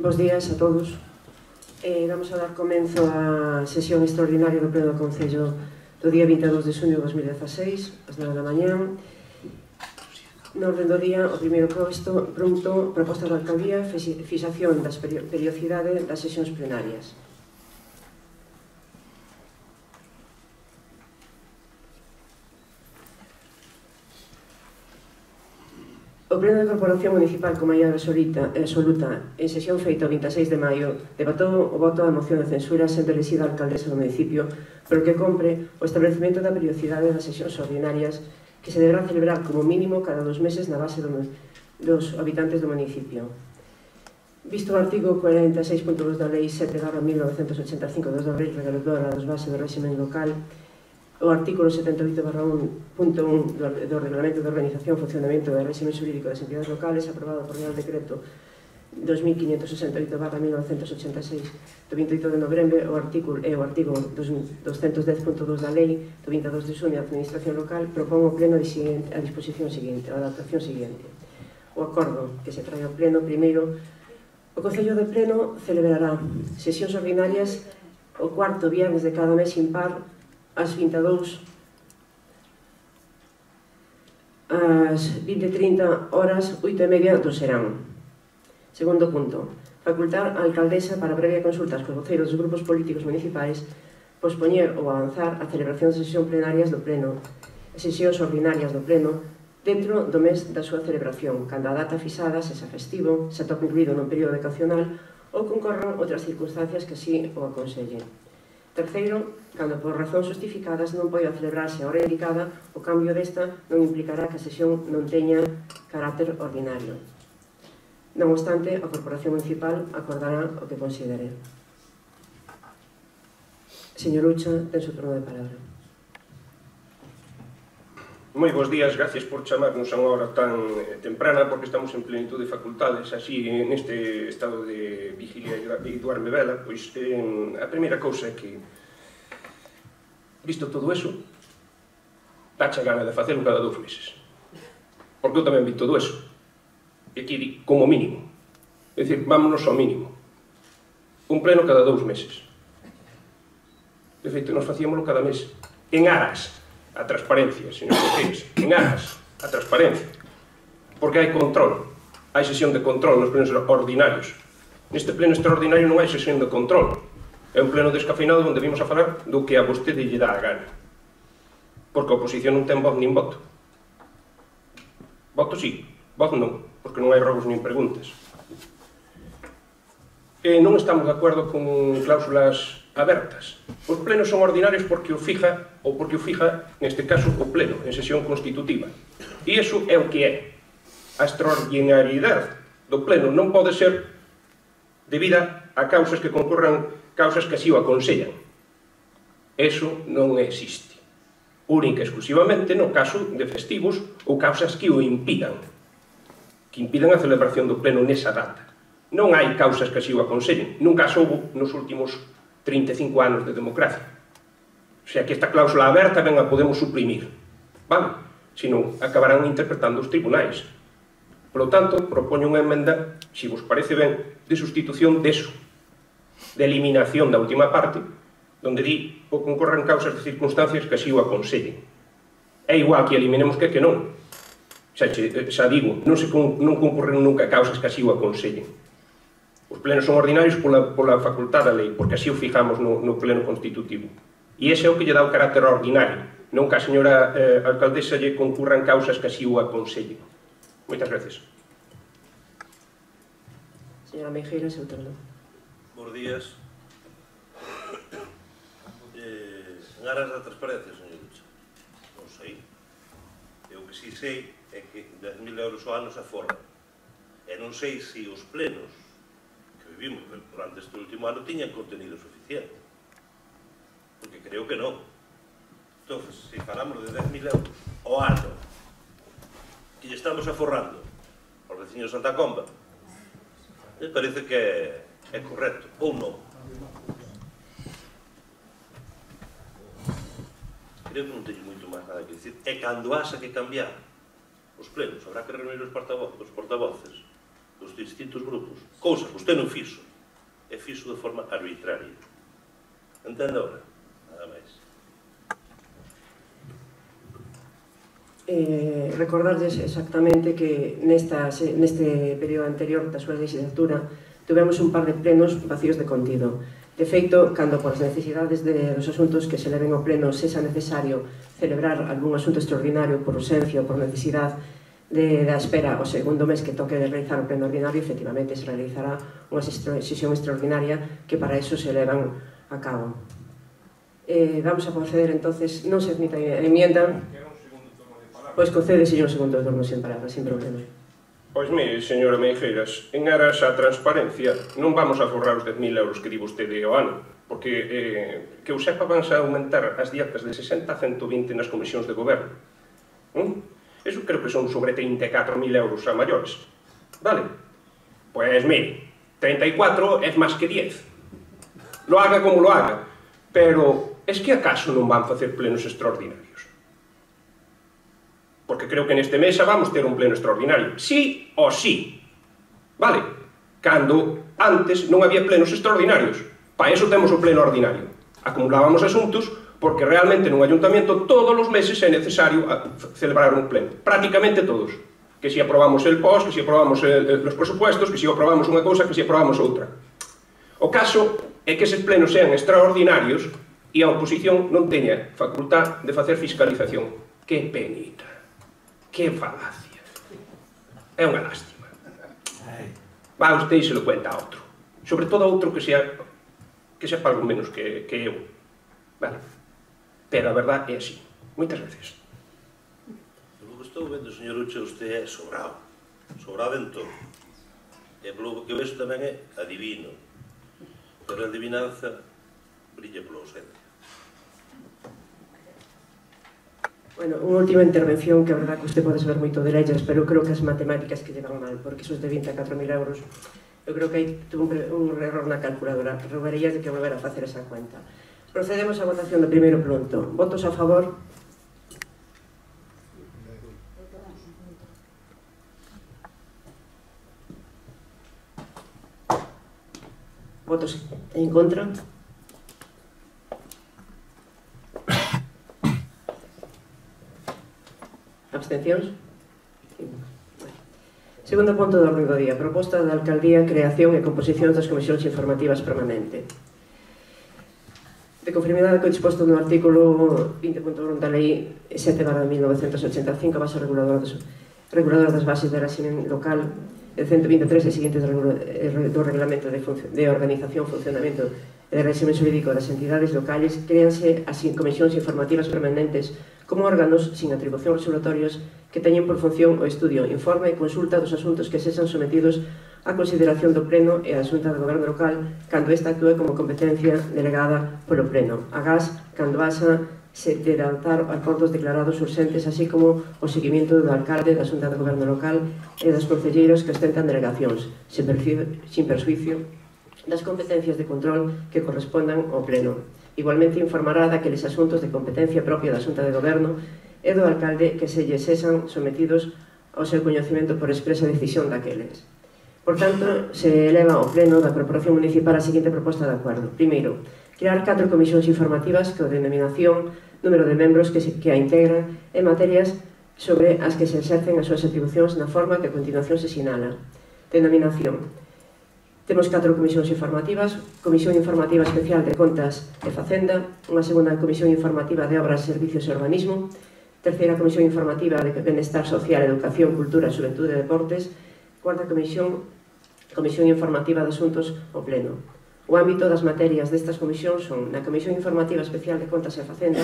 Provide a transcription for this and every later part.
Bos días a todos. Vamos a dar comenzo á sesión extraordinaria do Pleno do Concello do día 22 de xuño de 2016, ás 9 da mañá. No orden do día, o primeiro punto, proposta da Alcaldía, fixación das periodicidade das sesións plenarias. O Pleno da Corporación Municipal con maioría absoluta en sesión feita o 26 de maio debatou o voto da moción de censura sendo elixida a alcaldesa do municipio polo que compre o establecemento da periodicidade das sesións ordinarias que se deberán celebrar como mínimo cada 2 meses na base dos habitantes do municipio. Visto o artigo 46.2 da Lei 7/1985 2 de abril reguladora das bases do réximen local, o artículo 78/1.1 do Reglamento de Organización e Funcionamento do Réximen Xurídico das Entidades Locales, aprobado por Real Decreto 2568/1986 do 28 de novembro, o artigo 210.2 da Lei do 22 de xuño da Administración Local, propón o Pleno a disposición seguinte, a adaptación seguinte. O acordo que se trae ao Pleno, primeiro, o Concello de Pleno celebrará sesións ordinarias o cuarto viernes de cada mes impar ás 22 ás 20:30 horas, 8:30 do serán. Segundo punto, facultar a alcaldesa para previa consulta aos voceiros dos grupos políticos municipais pospoñer ou avanzar a celebración de sesións plenarias do Pleno, sesións ordinarias do Pleno, dentro do mes da súa celebración, cando a data fixada, se xa festivo, se atopa incluído nun período vacacional ou concorran outras circunstancias que así o aconsellen. Terceiro, cando por razóns justificadas non poida celebrarse a hora indicada, o cambio desta non implicará que a sesión non teña carácter ordinario. Non obstante, a Corporación Municipal acordará o que considere. Señor Ucha, ten o turno de palabra. Moi bons días, gracias por chamarnos a unha hora tan temprana, porque estamos en plenitud de facultades, así neste estado de vigilia e duerme vela. Pois a primeira cousa é que, visto todo eso, dache a gana de facelo cada 2 meses. Porque eu tamén vi todo eso. E aquí, como mínimo. É dicir, vámonos ao mínimo. Un pleno cada 2 meses. De feito, nos facíamoslo cada mes. En aras a transparencia, señor Cortés, en aras a transparencia. Porque hai control. Hai sesión de control nos plenos ordinarios. Neste pleno extraordinario non hai sesión de control. É un pleno descafeinado onde vimos a falar do que a vostede lle dá a gana. Porque a oposición non ten voz nin voto. Voto sí, voz non, porque non hai robos nin preguntas. Non estamos de acordo con cláusulas abertas. Os plenos son ordinarios porque o fija, neste caso, o pleno, en sesión constitutiva. E iso é o que é. A extraordinariedade do pleno non pode ser debida a causas que concorran, causas que así o aconsellan. Eso non existe. Única e exclusivamente no caso de festivos ou causas que o impidan. Que impidan a celebración do pleno nesa data. Non hai causas que así o aconsellen. Nunca as houbo nos últimos 35 anos de democracia. O sea que esta cláusula aberta ben a podemos suprimir. Vale? Senón, acabarán interpretando os tribunais. Por lo tanto, propoño unha emenda, se vos parece ben, de sustitución deso, de eliminación da última parte, donde di o concorran causas de circunstancias que así o aconsellen. É igual que eliminemos que non. Xa digo, non concorren nunca causas que así o aconsellen. Os plenos son ordinarios pola facultad da lei, porque así o fijamos no pleno constitutivo. E ese é o que lle dá o carácter ordinario, non que a señora alcaldesa lle concurran causas que así o aconsellen. Moitas gracias. Señora Meijeira, seu turno. Bos días. En aras da transparencia, señor Ucha, non sei. Eu que si sei é que 10.000 euros ao ano se aforran. E non sei se os plenos vivimos durante este último ano tiñan contenido suficiente, porque creo que non. Entón, se falamos de 10.000 euros ao ano que lle estamos aforrando aos veciños de Santa Comba, me parece que é correcto, ou non. Creo que non teño moito máis nada que dicir. E cando haxa que cambiar os plenos, habrá que reunir os portavoces dos distintos grupos, cousa que usted non fixo, e fixo de forma arbitraria. Entende agora? Nada máis. Recordarles exactamente que neste período anterior da súa legislatura tivemos un par de plenos vacíos de contido. De feito, cando por as necesidades dos asuntos que se leven ao pleno sexa necesario celebrar algún asunto extraordinario por urxencia ou por necesidade da espera o segundo mes que toque de realizar o pleno ordinario, efectivamente se realizará unha sesión extraordinaria que para eso se levan a cabo. Vamos a proceder entonces, non se admita a enmienda, pois concédese un segundo turno sen palabra, sin problema. Pois mire, señora Meijeiras, en aras a transparencia non vamos a forrar os 10.000 euros que di vostede ao ano, porque que eu sepa vanse a aumentar as dietas de 60 a 120 nas comisións de goberno. Eso creo que son sobre 34.000 euros a maiores. Vale? Pois mire, 34 é máis que 10. Lo haga como lo haga, pero es que acaso non van facer plenos extraordinarios? Porque creo que neste mes vamos ter un pleno extraordinario. Sí ou sí. Vale? Cando antes non había plenos extraordinarios. Para eso temos o pleno ordinario. Acumulábamos asuntos porque realmente nun ayuntamiento todos os meses é necesario celebrar un pleno. Prácticamente todos. Que si aprobamos el POS, que si aprobamos os presupuestos, que si aprobamos unha cousa, que si aprobamos outra. O caso é que eses plenos sean extraordinarios e a oposición non teña facultad de facer fiscalización. Que penita. Que falacia. É unha lástima. Va usted e se lo cuenta a outro. Sobre todo a outro que sepa algo menos que eu. Vale. Pero a verdade é así. Moitas veces. Polo que estou vendo, señor Uche, usted é sobrado. Sobrado en todo. E polo que vexo tamén é adivino. Pero a adivinanza brilla pola ausencia. Bueno, unha última intervención que a verdad que usted pode saber moito de leyes, pero eu creo que as matemáticas que llevan mal, porque esos de 24.000 euros, eu creo que aí tuvo un error na calculadora. Rogaría de que volver a facer esa cuenta. Procedemos á votación do primeiro punto. Votos a favor? Votos en contra? Abstencións? Segundo punto do orden do día. Proposta da Alcaldía, creación e composición das comisións informativas permanente. De conformidade co disposto no artículo 20.1 da Lei 7/1985, base reguladora das bases de régimen local, el 123 e seguintes do Reglamento de Organización, Funcionamento e de Régimen Xurídico das entidades locales, créanse as comisións informativas permanentes como órganos sin atribucións resolutorios que teñen por función o estudio, informe e consulta dos asuntos que sexan sometidos á consideración do Pleno e a Xunta de Goberno local cando esta actúe como competencia delegada polo Pleno. Agás, cando haxa se de adoptar acordos declarados urxentes, así como o seguimento do alcalde da Xunta de Goberno local e dos concelleiros que ostentan delegacións, sin persuicio das competencias de control que correspondan ao Pleno. Igualmente informará daqueles asuntos de competencia propia da Xunta de Goberno e do alcalde que se lles sexan sometidos ao seu coñecemento por expresa decisión daqueles. Por tanto, se eleva ao Pleno da Corporación Municipal a seguinte proposta de acordo. Primeiro, crear 4 comisións informativas que a denominación, número de membros que a integran e materias sobre as que se exercen as súas atribucións na forma que a continuación se sinala. Denominación. Temos 4 comisións informativas: Comisión Informativa Especial de Contas e Facenda, unha segunda Comisión Informativa de Obras, Servicios e Urbanismo, terceira Comisión Informativa de Benestar Social, Educación, Cultura, Xuventude e Deportes, cuarta Comisión Informativa de Asuntos ao Pleno. O ámbito das materias destas comisións son: na Comisión Informativa Especial de Contas e Facenda,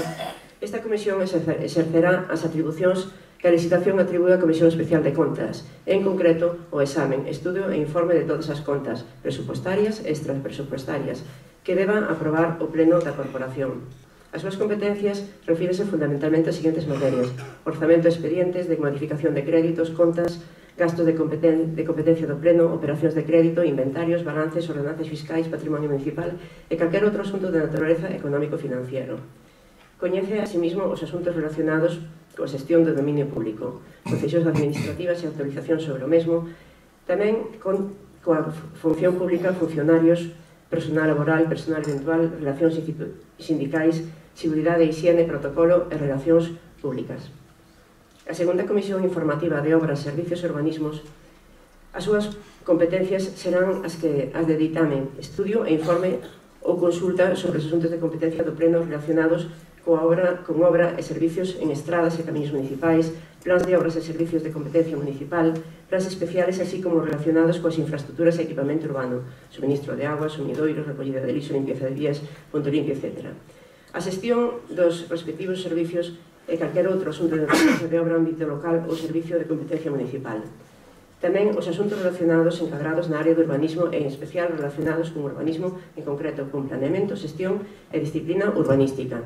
esta comisión exercerá as atribucións que a licitación atribúe á Comisión Especial de Contas, en concreto, o examen, estudio e informe de todas as contas, presupuestarias e extrapresupuestarias, que deba aprobar o Pleno da Corporación. As súas competencias refírese fundamentalmente ás seguintes materias: orzamento de expedientes, de modificación de créditos, contas, gastos de competencia do Pleno, operacións de crédito, inventarios, balances, ordenanzas fiscais, patrimonio municipal e calquer outro asunto de naturaleza económico-financiero. Coñece, asimismo, os asuntos relacionados coa xestión do dominio público, concesións administrativas e autorización sobre o mesmo, Tamén coa función pública, funcionarios, personal laboral, personal eventual, relacións sindicais, seguridade, higiene, protocolo e relacións públicas. A segunda Comisión Informativa de Obras, Servicios e Urbanismos, as súas competencias serán as de ditame, estudio e informe ou consulta sobre os asuntos de competencia do Pleno relacionados con obra e servicios en estradas e camiños municipais, plans de obras e servicios de competencia municipal, plans especiales, así como relacionados coas infraestructuras e equipamento urbano, suministro de agua, sumidoiros, recollida de lixo, limpieza de vías, punto limpio, etc. A xestión dos respectivos servicios e calquer outro asunto de competencia de obra en ámbito local ou servicio de competencia municipal. Tamén os asuntos relacionados encadrados na área do urbanismo e en especial relacionados con urbanismo, en concreto con planeamento, xestión e disciplina urbanística.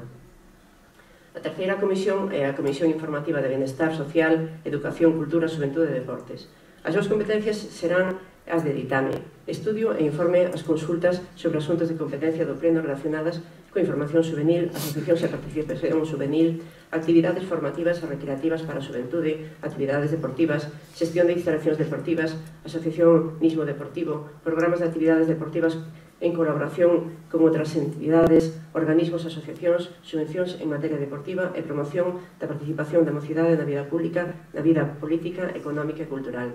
A terceira comisión é a Comisión Informativa de Benestar Social, Educación, Cultura, Xuventude e Deportes. As súas competencias serán as de ditame, estudio e informe as consultas sobre asuntos de competencia do Pleno relacionadas coa información juvenil, asociacións e participación juvenil, actividades formativas e recreativas para a xuventude, actividades deportivas, xestión de instalacións deportivas, asociacionismo deportivo, programas de actividades deportivas en colaboración con outras entidades, organismos, asociacións, subvencións en materia deportiva e promoción da participación da mocidade na vida pública, na vida política, económica e cultural.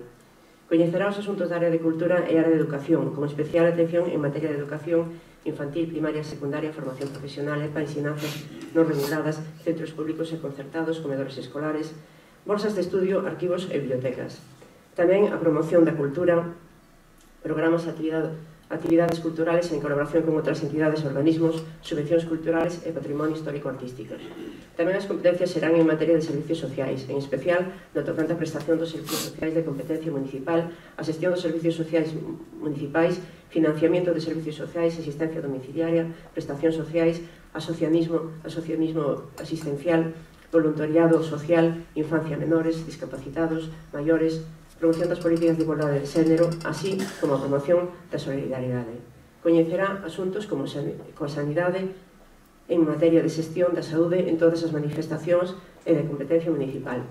Coñecerá os asuntos da área de cultura e área de educación, con especial atención en materia de educación infantil, primaria, secundaria, formación profesional e para ensinanzas non reguladas, centros públicos e concertados, comedores escolares, bolsas de estudio, arquivos e bibliotecas. Tamén a promoción da cultura, programas e actividades culturales en colaboración con outras entidades e organismos, subvencións culturales e patrimonio histórico-artístico. Tamén as competencias serán en materia de servicios sociais, en especial no tocante a prestación dos servicios sociais de competencia municipal, a xestión dos servicios sociais municipais, financiamento de servicios sociais, asistencia domiciliaria, prestacións sociais, asociacionismo asistencial, voluntariado social, infancia menores, discapacitados, maiores, promoción das políticas de igualdade de xénero, así como a promoción da solidaridade. Coñecerá asuntos como coa sanidade en materia de xestión da saúde en todas as manifestacións e de competencia municipal.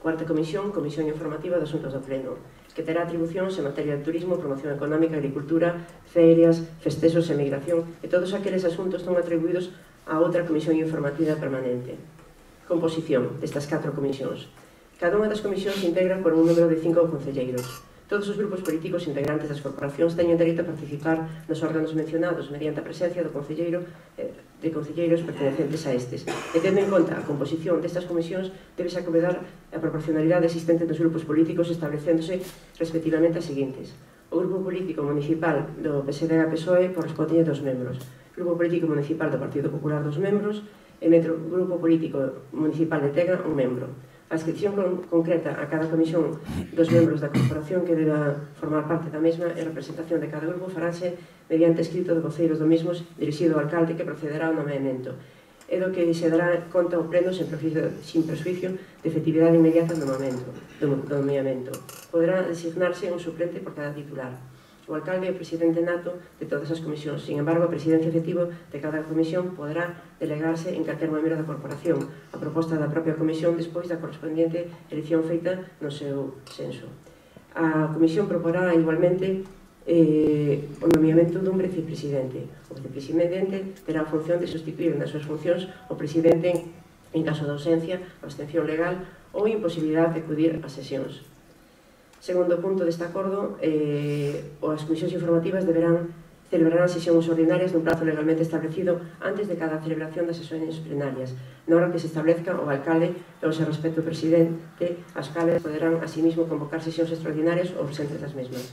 Cuarta comisión, Comisión Informativa de Asuntos do Pleno, que terá atribucións en materia de turismo, promoción económica, agricultura, ferias, festexos e migración, e todos aqueles asuntos están atribuídos a outra Comisión Informativa permanente. Composición destas 4 comisións. Cada unha das comisións se integra por un número de 5 concelleiros. Todos os grupos políticos integrantes das corporacións teñen dereito a participar nos órganos mencionados mediante a presencia de concelleiros pertenecentes a estes. E tendo en conta a composición destas comisións, debese acomodar a proporcionalidade existente dos grupos políticos establecéndose respectivamente as seguintes. O grupo político municipal do PSD-PSOE corresponde 2 membros. O grupo político municipal do Partido Popular 2 membros e o grupo político municipal de Tega 1 membro. A inscripción concreta a cada comisión dos membros da corporación que deba formar parte da mesma e representación de cada grupo farase mediante escrito de voceiros do mesmo dirixido ao alcalde que procederá ao nomeamento e do que se dará conta ao pleno sin perjuicio de efectividade inmediata do nomeamento. Poderá designarse un suplente por cada titular. O alcalde é o presidente nato de todas as comisións. Sin embargo, a presidencia efectiva de cada comisión poderá delegarse en calquer membro da corporación a proposta da propia comisión despois da correspondiente elección feita no seu senso. A comisión proporá igualmente o nomeamento dun vicepresidente. O vicepresidente terá a función de sustituir nas súas funcións o presidente en caso de ausencia, abstención legal ou imposibilidade de acudir ás sesións. Segundo punto deste acordo, as comisións informativas deberán celebrar as sesións ordinarias nun prazo legalmente establecido antes de cada celebración das sesións plenarias, na hora que se establezca o alcalde e o seu respecto presidente, as cales poderán asimismo convocar sesións extraordinarias ou presentes das mesmas.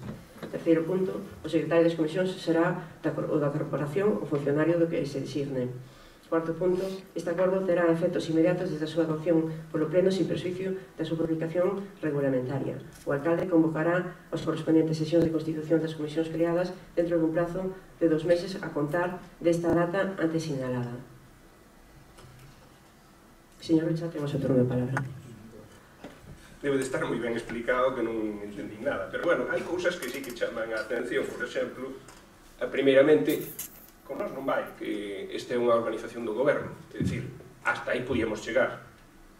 Terceiro punto, o secretario das comisións será o da corporación o funcionario do que se designe. Cuarto punto, este acordo terá efectos inmediatos desde a súa adopción polo pleno sin perjuicio da súa publicación regulamentaria. O alcalde convocará as correspondentes sesións de constitución das comisións creadas dentro dun plazo de 2 meses a contar desta data antes sinalada. Señor Rocha, temos o turno de palabra. Debe de estar moi ben explicado que non entendí nada, pero bueno, hai cousas que sí que chaman a atención. Por exemplo, primeiramente, con nós non vai, que esta é unha organización do goberno, é dicir, hasta aí podíamos chegar,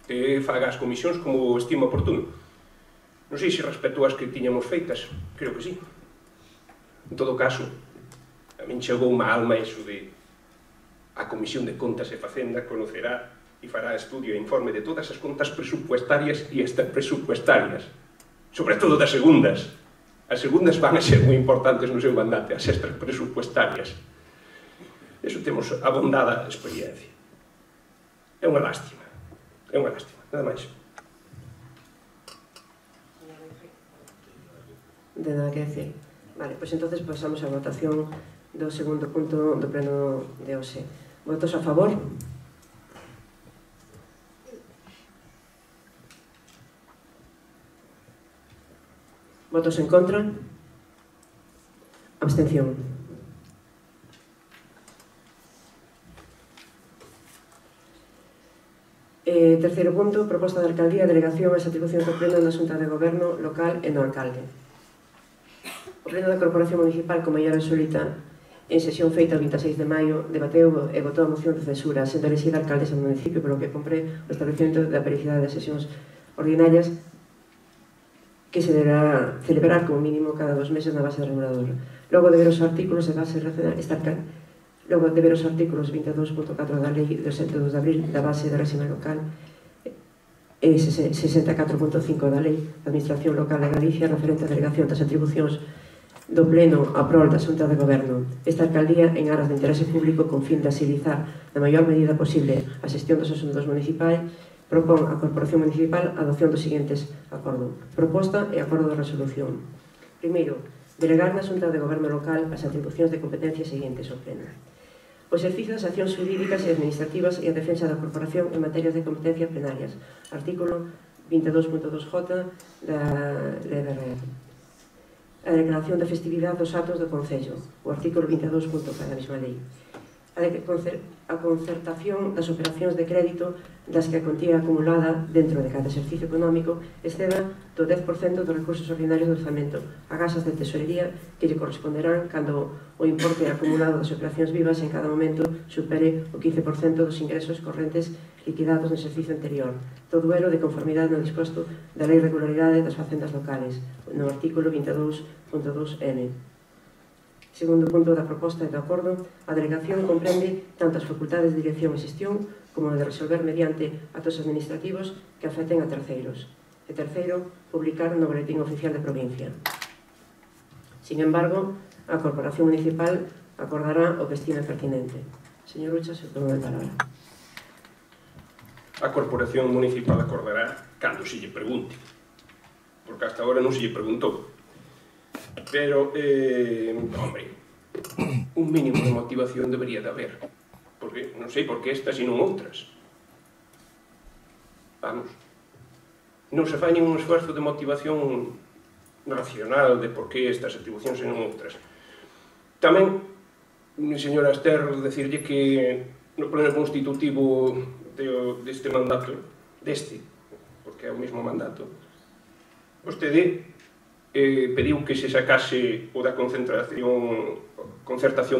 que faga as comisións como estima oportuno. Non sei se respecto as que tiñamos feitas, creo que sí. En todo caso, a min chegou má alma iso de a Comisión de Contas e Facenda conocerá e fará estudio e informe de todas as contas presupuestarias e extrapresupuestarias, sobre todo das segundas. As segundas van a ser moi importantes no seu mandato, as extrapresupuestarias. Eso temos abondada experiencia. É unha lástima, nada máis. De nada que decir. Vale, pois entonces pasamos á votación do segundo punto do pleno de hoxe. Votos a favor? Votos en contra? Abstención. Terceiro punto, proposta de alcaldía, delegación e atribucións do pleno na Xunta de Goberno local e no alcalde. O pleno da Corporación Municipal, como ya resoluta en sesión feita o 26 de maio, debateu e votou a moción de censura sendo elexida alcaldesa do municipio, polo que compré o establecimento da periodicidade das sesións ordinarias que se deberá celebrar como mínimo cada 2 meses na base reguladora. Logo de ver os artículos de base Logo de ver os artículos 22.4 da Lei do 2 de abril da base de réxime local e 64.5 da Lei da Administración Local de Galicia referente á delegación das atribucións do Pleno a prol da Xunta de Goberno. Esta alcaldía, en aras de interese público, con fin de agilizar na maior medida posible a xestión dos asuntos municipais, propón a Corporación Municipal a adopción dos seguintes acordos. Proposta e acordo de resolución. Primeiro, delegar na Xunta de Goberno local as atribucións de competencias seguintes ao Pleno. O exercicio das accións jurídicas e administrativas e a defensa da corporación en materias de competencia plenarias. Artículo 22.2j da LRR. A declaración de festividade dos actos do Concello. O artículo 22.4 da mesma lei. A concertación das operacións de crédito das que a contía acumulada dentro de cada exercicio económico exceda do 10% dos recursos ordinarios do orzamento a gasas de tesorería que lle corresponderán cando o importe acumulado das operacións vivas en cada momento supere o 15% dos ingresos correntes liquidados no exercicio anterior. Todo elo de conformidade no disposto da Lei de Regularidade das Facendas Locales, no artículo 22.2n. Segundo punto da proposta e do acordo, a delegación comprende tanto as facultades de dirección e xestión como de resolver mediante actos administrativos que afecten a terceiros. E terceiro, publicar no Boletín Oficial de Provincia. Sin embargo, a Corporación Municipal acordará o que estime pertinente. Señor Ucha, se turno de palabra. A Corporación Municipal acordará cando se lle pregunte, porque hasta agora non se lle preguntou. Pero, hombre, un mínimo de motivación debería de haber. Porque non sei por que estas e non outras. Vamos, non se fai ningún esforzo de motivación racional de por que estas atribucións e non outras. Tamén, señora Ester, decirlle que no pleno constitutivo deste mandato, porque é o mesmo mandato, vostede pediu que se sacase o da concertación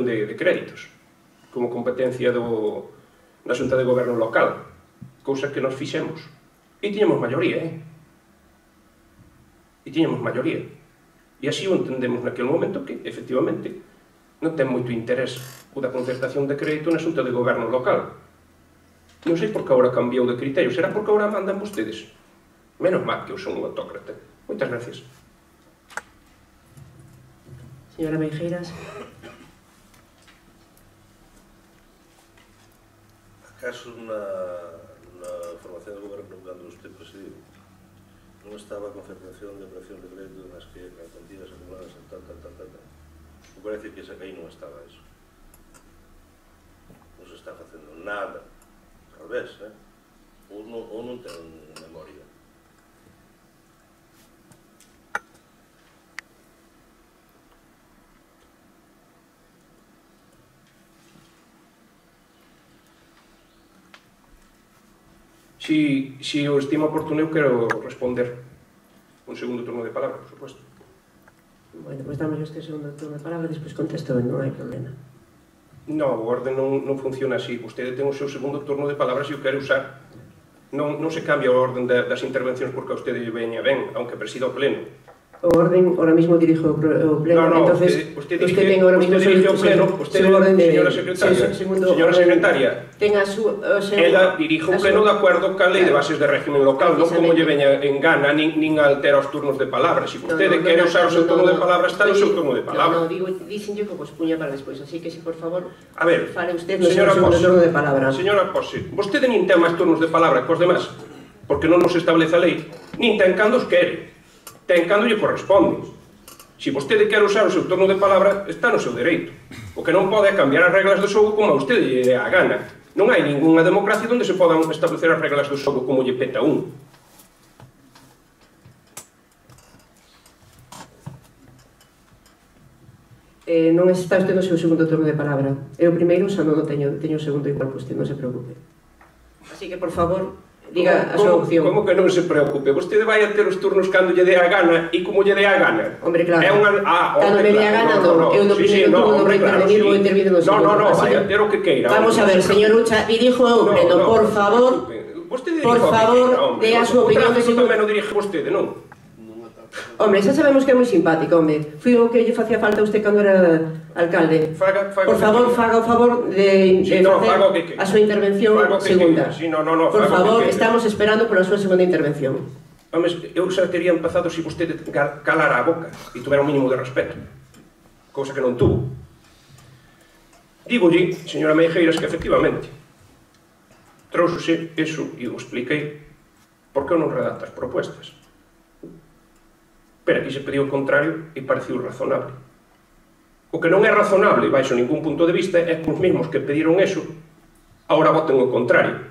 de créditos como competencia da Xunta de Goberno local, cousa que nos fixemos e tiñamos maioría, e así o entendemos naquele momento que, efectivamente, non ten moito interés o da concertación de crédito na Xunta de Goberno local. Non sei por que agora cambiou de criterio, será porque agora mandan vostedes. Menos mal que eu son un autócrata. Moitas gracias. Señora Meijeiras. Acaso na formación do goberno cando usted presidiu non estaba a concertación de operación de crédito nas que as cuantías acumuladas en tal. Me parece que esa que aí non estaba eso. Non se está facendo nada. Al revés, ou non ten memoria. Si o estimo oportuno, eu quero responder un segundo turno de palabra, por suposto. Bueno, pois damos este segundo turno de palabra, despois contesto, non hai problema. No, o orden non funciona así. Vostede ten o seu segundo turno de palabra se o quere usar. Non se cambia o orden das intervencións porque a vostede veña ben, aunque presida o pleno. O orden, ahora mismo dirijo o pleno, entonces usted dirige o pleno, usted, señora secretaria, ela dirige o pleno de acordo ca lei de bases de régimen local, non como lle veña en gana, nin altera os turnos de palabra. Se vostede quere usar o seu turno de palabra, está no seu turno de palabra. Non, digo, dixenlle que vos puña para despois, así que, se por favor, fale usted no seu turno de palabra. Señora Pose, vostede nin ten máis turnos de palabra que os demás, porque non nos establece a lei, nin ten cando os quere. Ten cando lle corresponde. Se vostede quer usar o seu turno de palabra, está no seu dereito. O que non pode é cambiar as reglas do xogo como a vostede lle dé a gana. Non hai ningunha democracia onde se podan establecer as reglas do xogo como lle peta un. Non está usted no seu segundo turno de palabra. Eu primeiro xa non teño o segundo igual que usted, non se preocupe. Así que, por favor, diga a súa opción. Como que non se preocupe? Vostede vai a ter os turnos cando lle dé a gana e como lle dé a gana. Hombre, claro. Cando me dé a gana, non. Eu no primeiro turno non vou intervenir, vou intervir no segundo. Non, vai a ter o que queira. Vamos a ver, señor Ucha, dirijo eu pleno, por favor. Por favor, dé a súa opinión. O tráfico tamén o dirige vostede, non? Hombre, xa sabemos que é moi simpático, hombre. Fui o que lle facía falta a usted cando era alcalde. Por favor, faga o favor de facer a súa intervención segunda. Por favor, estamos esperando pola súa segunda intervención. Home, eu xa teria empezado se vostede calara a boca e tuvera un mínimo de respeto. Cousa que non tuvo. Dígolle, señora Meijeiras, que efectivamente trouxose eso e o expliquei porque eu non redacto as propuestas. Pero aquí se pediu o contrario e pareceu razonable. O que non é razonable, baixo ningún punto de vista, é que os mesmos que pediron eso agora voten o contrario.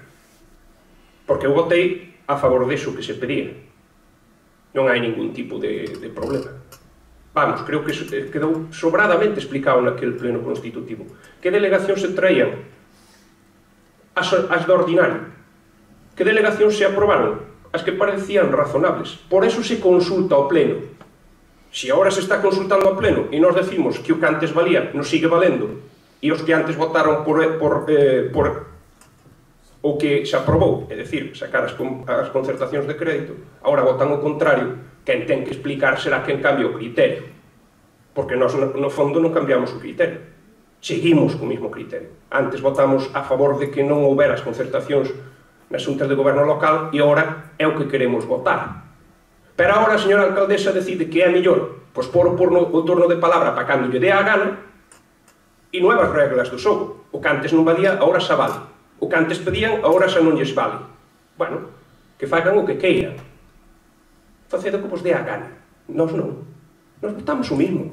Porque eu votei a favor deso que se pedía. Non hai ningún tipo de problema. Vamos, creo que quedou sobradamente explicado naquele pleno constitutivo. Que delegacións se traían? As de ordinario. Que delegacións se aprobaron? As que parecían razonables. Por eso se consulta ao pleno. Se agora se está consultando ao pleno e nos decimos que o que antes valía non sigue valendo e os que antes votaron por o que se aprobou, é dicir, sacar as concertacións de crédito, agora votan o contrario, quen ten que explicar será quen cambia o criterio. Porque nós, no fondo, non cambiamos o criterio. Seguimos co mesmo criterio. Antes votamos a favor de que non houbera as concertacións nas xuntas de goberno local e agora é o que queremos votar. Pero agora a señora alcaldesa decide que é mellor pois pôr o turno de palabra para cando lle dé a gana e nuevas reglas do xogo. O que antes non valía, agora xa vale. O que antes pedían, agora xa non lles vale. Bueno, que fagan o que queiran. Facedo que vos dé a gana. Nós non. Nós votamos o mismo.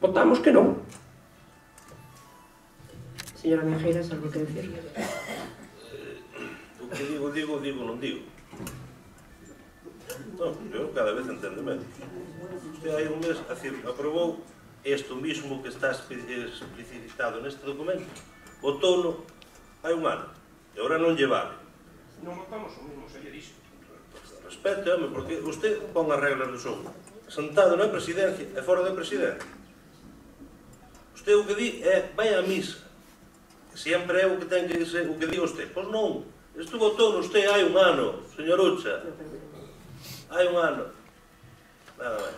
Votamos que non. Señora Meijeiras, algo que decir? O que digo, non digo. Non, eu cada vez entendo menos. Usted hai un mes aprobou isto mismo que está explicitado neste documento. Votou-no hai un ano. E agora non lle vale. Non votamos o mismo, se lle dixo. Respete, home, porque usted pon as reglas do xogo. Sentado na presidencia e fora da presidencia. Usted o que di é vai á misa. Sempre é o que ten que dizer, o que di usted. Pois non. Isto votou usted hai un ano, señor Ucha. Hai un ano. Nada máis.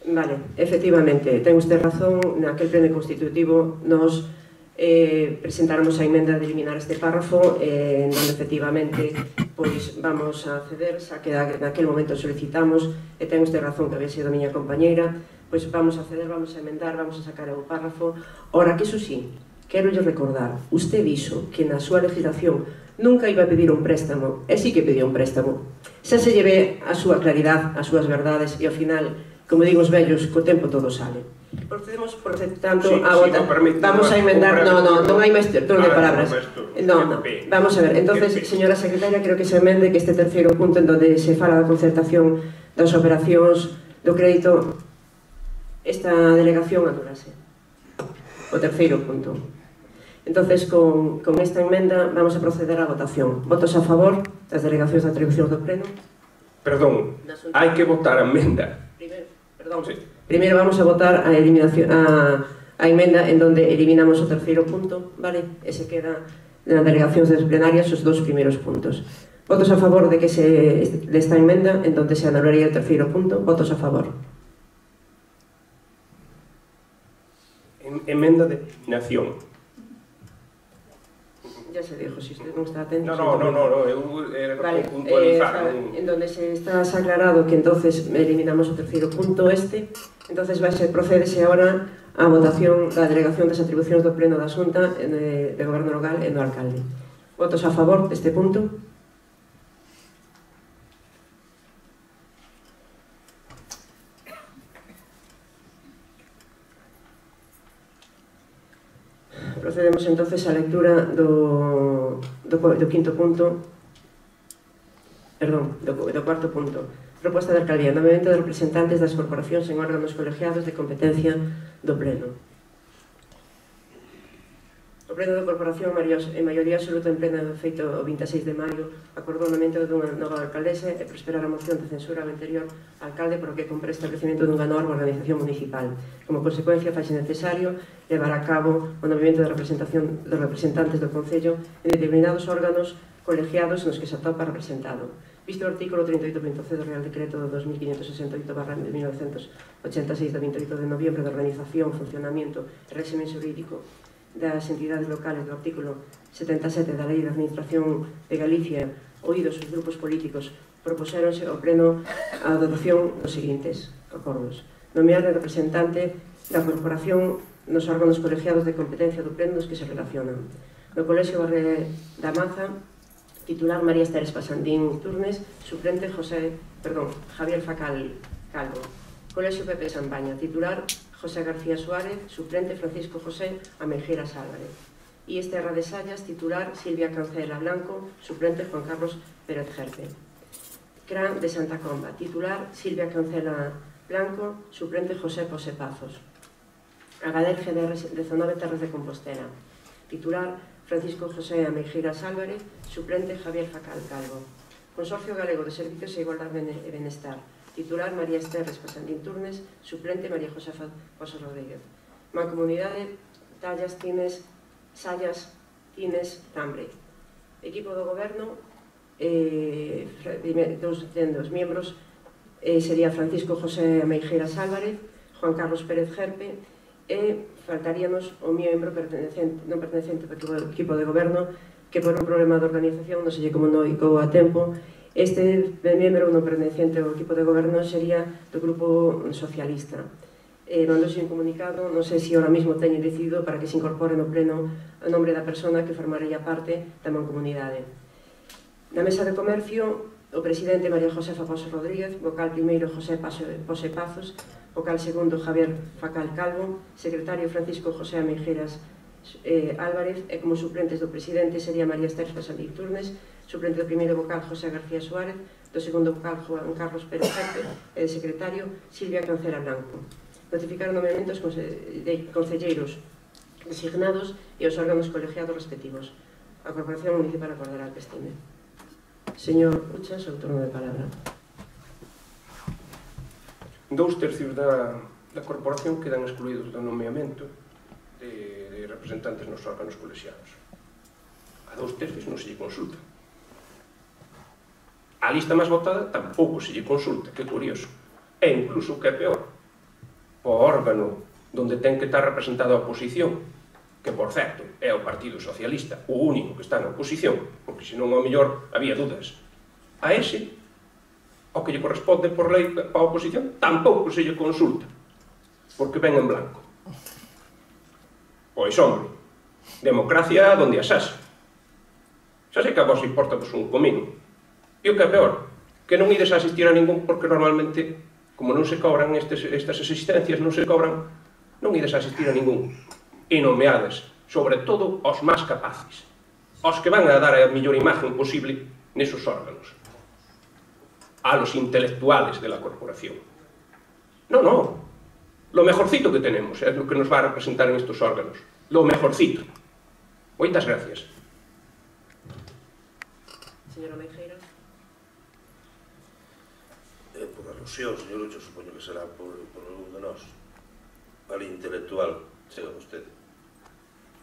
Vale, efectivamente, ten usted razón, naquel pleno constitutivo nos presentáramos a emenda de eliminar este párrafo onde efectivamente pois vamos a ceder, xa que naquel momento solicitamos e ten usted razón que había sido a miña compañeira, pois vamos a ceder, vamos a emendar, vamos a sacar o párrafo. Ora, que iso sí, quero lle recordar, usted dixo que na súa legislación nunca iba a pedir un préstamo, e sí que pediu un préstamo. Xa se lleve a súa claridade, as súas verdades, e ao final, como digo os vellos, co tempo todo sale. Procedemos, por tanto, a votar. Vamos a emendar, non hai máis turno de palabras. Non, vamos a ver, entonces, señora secretaria, creo que se emende que este terceiro punto en donde se fala da concertación das operacións do crédito, esta delegación anulase. O terceiro punto. Entonces, con esta emenda vamos a proceder á votación. Votos a favor das delegacións de atribucións do pleno? Perdón, hai que votar a emenda. Primeiro vamos a votar a emenda en donde eliminamos o terceiro punto, vale? E se queda nas delegacións plenarias os dous primeiros puntos. Votos a favor de esta enmenda, en donde se anularía el terceiro punto. Votos a favor. Emenda de nación. Ya se dijo, si usted non está atento... No, eu era para puntualizar. En donde se está aclarado que entonces eliminamos o terceiro punto entonces procédese agora a votación da delegación das atribucións do Pleno da Xunta de Goberno Local e do Alcalde. Votos a favor deste punto? Procedemos entonces á lectura do quinto punto, perdón, do cuarto punto. Proposta de alcaldía, nomeamento de representantes das corporacións en órganos colegiados de competencia do Pleno. O Pleno da Corporación, en maioría absoluta en plena do feito o 26 de maio, acordou o nomeamento dunha nova alcaldesa e prosperar a moción de censura ao anterior alcalde por o que compre establecemento dunha nova organización municipal. Como consecuencia, faise necesario levar a cabo o nomeamento de representación dos representantes do Concello en determinados órganos colegiados nos que se atopa representado. Visto o artículo 38.c do Real Decreto do 2568/1986 do 28 de noviembre de Organización, Funcionamiento e Réxime Xurídico das entidades locales do artículo 77 da Lei de Administración de Galicia, oídos os grupos políticos, propuséronse ao Pleno a adopción dos seguintes acordos. Nomear a representante da corporación nos órganos colegiados de competencia do Pleno nos que se relacionan. No Colexio Barre da Maza, titular María Esther Espasandín Turnes, suplente Javier Facal Calvo. Colexio Pepe Sambaña, titular José García Suárez, suplente Francisco José Ameijeras Álvarez. Y Esterra de Sallas, titular Silvia Cancela Blanco, suplente Juan Carlos Pérez Gerpe. CRAN de Santa Comba, titular Silvia Cancela Blanco, suplente José José Pazos. Agader GDR 19 Terras de Compostela, titular Francisco José Ameijeras Álvarez, suplente Javier Facal Calvo. Consorcio Galego de Servicios e Igualdade e Benestar, titular María Esther Espasandín Turnes, suplente María Josefa Pozo Rodríguez. Mancomunidade Tallas Tines Sallas Tines Tambre. Equipo do Goberno, dos miembros sería Francisco José Ameijeras Álvarez, Juan Carlos Pérez Gerpe e faltaríanos o miembro non pertenecente do equipo de Goberno que por un problema de organización non se lle comunicou a tempo. Este membro non pertenecente ao equipo de Goberno sería do Grupo Socialista. Mandóse un comunicado, non sei se ahora mesmo teñen decidido para que se incorpore no Pleno o nombre da persona que formaría parte da mancomunidade. Na Mesa de Comercio, o presidente María Josefa Pozo Rodríguez, vocal primeiro José Pose Pazos, vocal segundo Javier Facal Calvo, secretario Francisco José Ameijeras Álvarez e como suplentes do presidente sería María Esther Espasandín Turnes, suplente do primeiro vocal José García Suárez, do segundo vocal Juan Carlos Pérez Gerpe e de secretario Silvia Cancela Blanco. Notificar nomeamentos de concelleiros designados e os órganos colegiados respectivos. A Corporación Municipal acordará que estime. Señor Uchas, o turno de palabra. 2/3 da corporación quedan excluídos do nomeamento de representantes nos órganos colexiados. A 2/3 non se lle consulta. A lista máis votada tampouco se lle consulta, que curioso. E incluso o que é peor, o órgano donde ten que estar representada a oposición, que por certo é o Partido Socialista, o único que está na oposición, porque senón ao mellor había dudas, a ese, ao que lle corresponde por lei a oposición, tampouco se lle consulta, porque ven en blanco. Pois, hombre, democracia donde as haxa. Xa sei que a vos importa vos un comino. E o que é peor, que non ides a asistir a ningún, porque normalmente, como non se cobran estas existencias, non se cobran, non ides a asistir a ningún. E nomeades, sobre todo, os máis capaces, os que van a dar a mellor imagen posible nesos órganos, a los intelectuales de la corporación. No, lo mejorcito que tenemos é lo que nos va a representar en estos órganos, lo mejorcito. Moitas gracias. Señora Meijeira. Por alusión, señor Ucho, supoño que será por algún de nós. Al intelectual, chega vostede.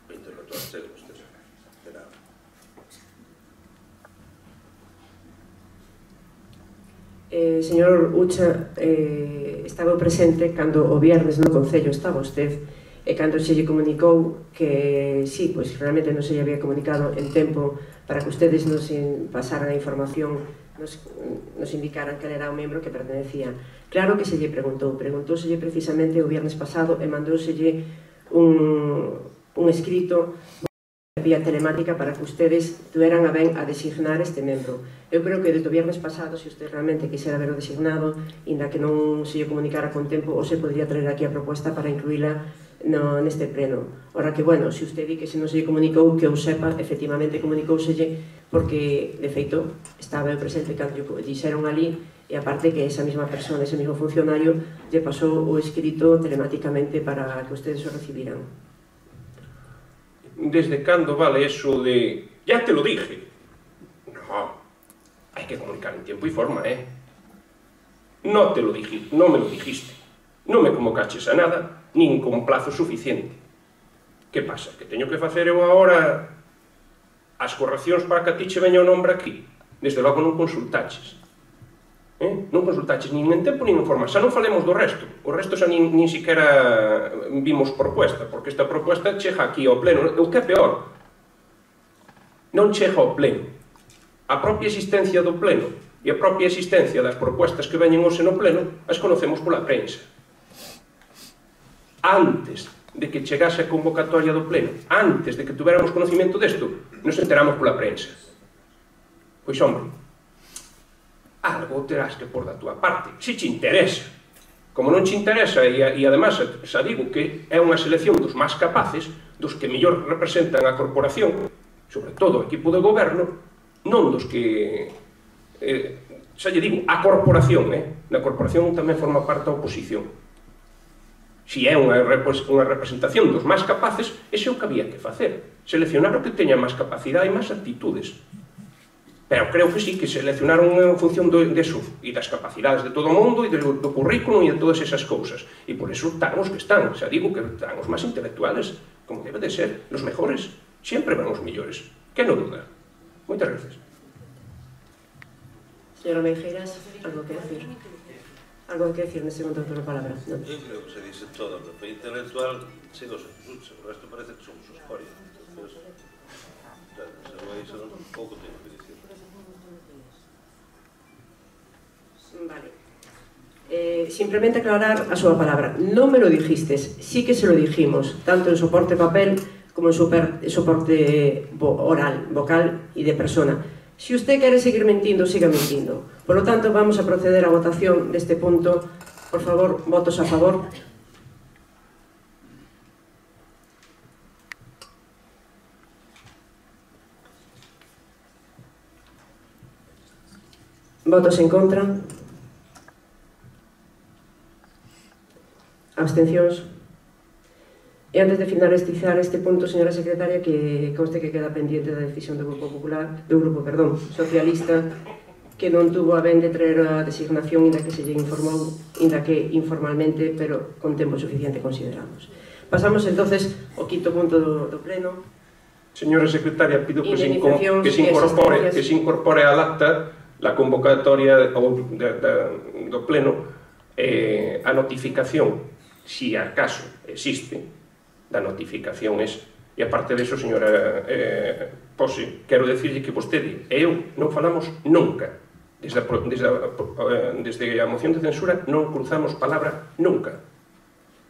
O intelectual, chega vostede. De nada. Señor Ucha, estaba presente cando o viernes no Concello estaba usted, e cando se lle comunicou que sí, pois realmente non se lle había comunicado en tempo para que ustedes nos pasaran a información, nos indicaran que era o membro que pertenecía. Claro que se lle preguntóselle precisamente o viernes pasado e mandóselle un escrito vía telemática para que ustedes tuveran a ben a designar este membro. Eu creo que desde o viernes pasado, se usted realmente quixera ver o designado, inda que non se lle comunicara con tempo, ou se podría traer aquí a proposta para incluíla neste pleno. Ora que, bueno, se usted di que se non se lle comunicou, que eu sepa, efectivamente comunicouselle, porque, de feito, estaba eu presente cando lle dixeron ali, e aparte que esa mesma persona, ese mesmo funcionario, lle pasou o escrito telemáticamente para que ustedes o recibiran. ¿Desde cando vale eso de ya te lo dije? No, hay que comunicar en tiempo y forma, ¿eh? No te lo dije, no me lo dijiste. No me convocaches a nada, nin con plazo suficiente. Que pasa? Que teño que facer eu agora as correccións para que a ti che veña o nombre aquí? Desde logo non consultaches. Non consultaches nin en tempo nin en forma. Xa non falemos do resto. O resto xa nin siquiera vimos propuesta, porque esta propuesta chega aquí ao pleno. O que é peor, non chega ao pleno. A propia existencia do pleno e a propia existencia das propuestas que veñen hoxe no pleno as conocemos pola prensa. Antes de que chegase a convocatoria do pleno, antes de que tuveramos conocimiento desto, nos enteramos pola prensa. Pois, hombre, algo terás que por da túa parte, se te interesa. Como non te interesa, e además xa digo que é unha selección dos máis capaces, dos que mellor representan a corporación, sobre todo o equipo de goberno, non dos que, xa lle digo, a corporación, na corporación tamén forma parte a oposición. Si é unha representación dos máis capaces, ese é o que había que facer, seleccionar o que teña máis capacidade e máis actitudes. Pero creo que sí, que seleccionaron en función deso, e das capacidades de todo o mundo, e do currículo, e de todas esas cousas. E por eso están os que están. Xa digo que están os máis intelectuales, como debe de ser, os mejores. Sempre van os millores. Que non duda. Moitas gracias. Señora Meijeras, algo que decir? Algo que decir neste segundo turno de palabra? Eu creo que se dice todo. O que intelectual, sigo se Ucha. O resto parece que somos escoria. Entón, iso pouco teño que dicir. Vale. Simplemente aclarar a súa palabra. Non me lo dijistes, sí que se lo dijimos, tanto en soporte papel como en soporte oral, vocal e de persona. Si usted quere seguir mentindo, siga mentindo. Por lo tanto, vamos a proceder á votación deste punto. Por favor, votos a favor. Votos en contra. Abstencións. E antes de finalizar este punto, señora secretaria, que conste que queda pendiente da decisión do Grupo Popular, Socialista, que non tuvo a ben de traer a designación, inda que se lle informou, inda que informalmente, pero con tempo suficiente, consideramos. Pasamos entonces ao quinto punto do pleno. Señora secretaria, pido que se incorpore al acta la convocatoria do pleno, a notificación, si acaso existe, da notificación esa. E aparte de eso, señora Pose, quero decirle que vostede e eu non falamos nunca, desde a moción de censura non cruzamos palabra nunca.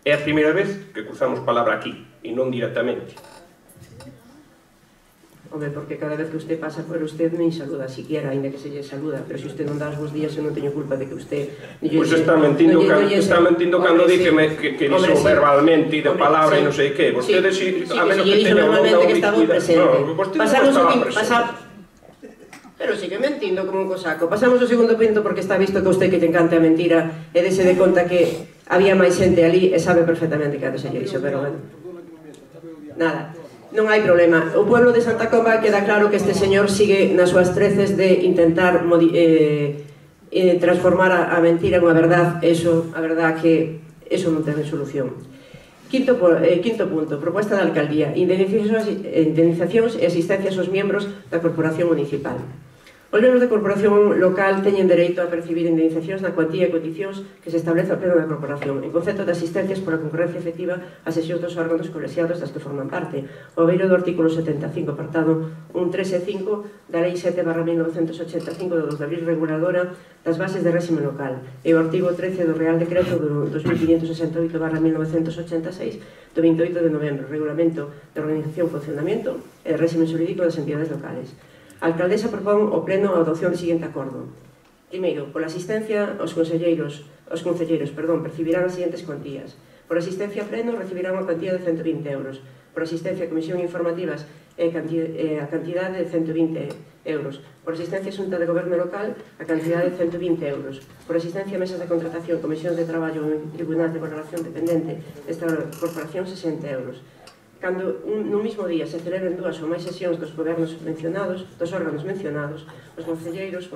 É a primeira vez que cruzamos palabra aquí, e non directamente. Home, porque cada vez que usted pasa por usted nin saluda siquiera, ainda que se lle saluda, pero se usted non dá os bons días, eu non teño culpa de que usted... Pois está mentindo cando di que dixo verbalmente e de palabra e non sei que. Vostede, a menos que teña unha ubicuidade... Non, vostede non estaba presente. Pero sigue mentindo como un cosaco. Pasamos ao segundo punto, porque está visto que a usted que te encanta a mentira e dese de conta que había máis xente ali e sabe perfectamente que se lle dixo, pero bueno. Nada. Non hai problema. O pueblo de Santa Comba queda claro que este señor sigue nas súas treces de intentar transformar a mentira en unha verdad. A verdad que eso non ten solución. Quinto punto, proposta da alcaldía, indemnizacións e asistencias aos membros da corporación municipal. Os membros da corporación local teñen dereito a percibir indemnizacións na cuantía e condicións que se establece ao pleno da corporación en concepto de asistencias pola concurrencia efectiva ás sesións dos órganos colexiados das que forman parte, o beiro do artículo 75, apartado 1, 3 e 5 da Lei 7/1985 do 2 de abril reguladora das bases de réxime local e o artigo 13 do Real Decreto do 2568/1986 do 28 de novembro, Regulamento de Organización, Funcionamento e de Réxime Xurídico das Entidades Locales. A alcaldesa propón ao pleno a adopción do seguinte acordo. Primeiro, pola asistencia, os concelleiros percibirán as seguintes cuantías. Por asistencia a pleno recibirán unha cantidad de 120 euros. Por asistencia a comisión informativas a cantidade de 120 euros. Por asistencia a xunta de goberno local a cantidade de 120 euros. Por asistencia a mesas de contratación, comisións de traballo en tribunal de valoración dependente desta corporación 60 euros. Cando no mismo día se celebren dúas ou máis sesións dos gobernos mencionados, dos órganos mencionados, os concelleiras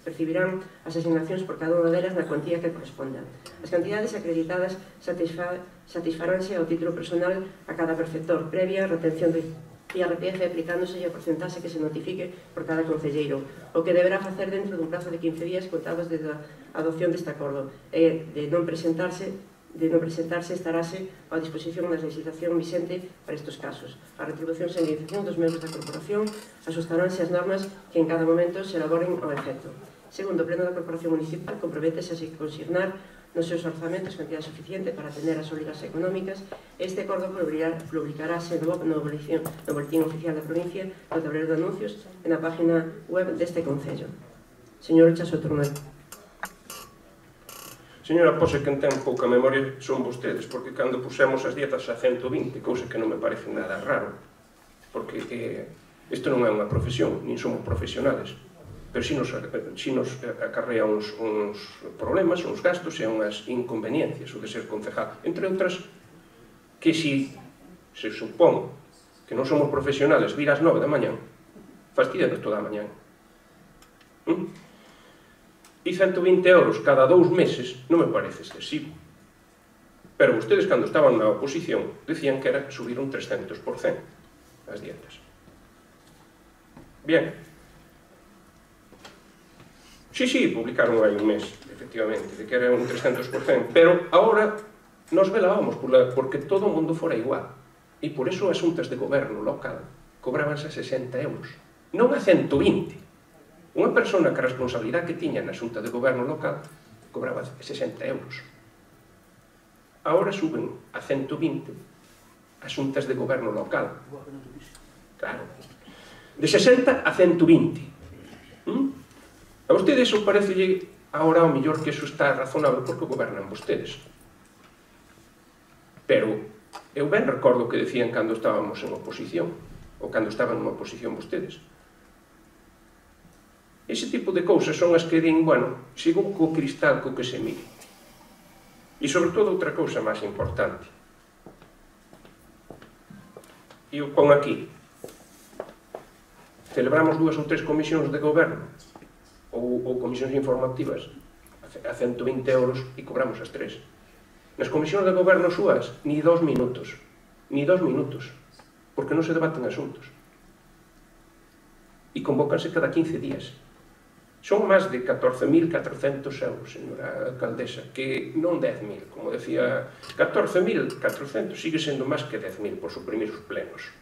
percibirán as asignacións por cada unha delas na cuantía que corresponda. As cantidades acreditadas satisfaránse ao título personal a cada perceptor, previa retención de IRPF aplicándose a porcentaxe que se notifique por cada concelleiro, o que deberá facer dentro dun prazo de 15 días contados desde a adopción deste acordo, e de non presentarse estaráse á disposición da legislación vixente para estes casos. A retribución e indemnización dos membros da corporación axustaránse as normas que en cada momento se elaboren ao efecto. Segundo, o Pleno da Corporación Municipal comprométese a consignar nos seus orzamentos cantidade suficiente para atender as obrigas económicas. Este acordo publicarase no boletín oficial da provincia, no tablero de anuncios e na página web deste Concello. Señor Chaso Tornel. Señora, pose que ten pouca memoria son vostedes, porque cando pusemos as dietas a 120, cousa que non me parece nada raro, porque isto non é unha profesión, nin somos profesionales, pero si nos acarrea uns problemas, uns gastos e unhas inconveniencias o de ser concejal, entre outras que si se supón que non somos profesionales vir ás 9 da mañán, fastidianos toda a mañán. E 120 euros cada 2 meses non me parece excesivo. Pero vostedes, cando estaban na oposición, decían que era subir un 300% as dietas. Bien. Sí, publicaron aí un mes, efectivamente, de que era un 300%, pero agora nos velábamos porque todo o mundo fora igual. E por iso as xuntas de goberno local cobrabanse a 60 euros, non a 120. Unha persona que a responsabilidade que tiña na xunta de goberno local cobraba 60 euros. Agora suben a 120 as xuntas de goberno local. Claro. De 60 a 120. A vostedes iso parecelle agora ao mellor que iso está razonable porque gobernan vostedes. Pero eu ben recordo que decían cando estábamos en oposición, ou cando estaban en oposición vostedes. Ese tipo de cousas son as que din, bueno, sigo co cristal co que se mire. E sobre todo outra cousa máis importante. E o pon aquí. Celebramos 2 ou 3 comisións de goberno ou comisións informativas a 120 euros e cobramos as 3. Nas comisións de goberno súas, ni 2 minutos. Ni 2 minutos. Porque non se debaten asuntos. E convócanse cada 15 días. Son máis de 14.400 euros, señora alcaldesa, que non 10.000, como decía, 14.400, sigue sendo máis que 10.000 por suprimir os plenos.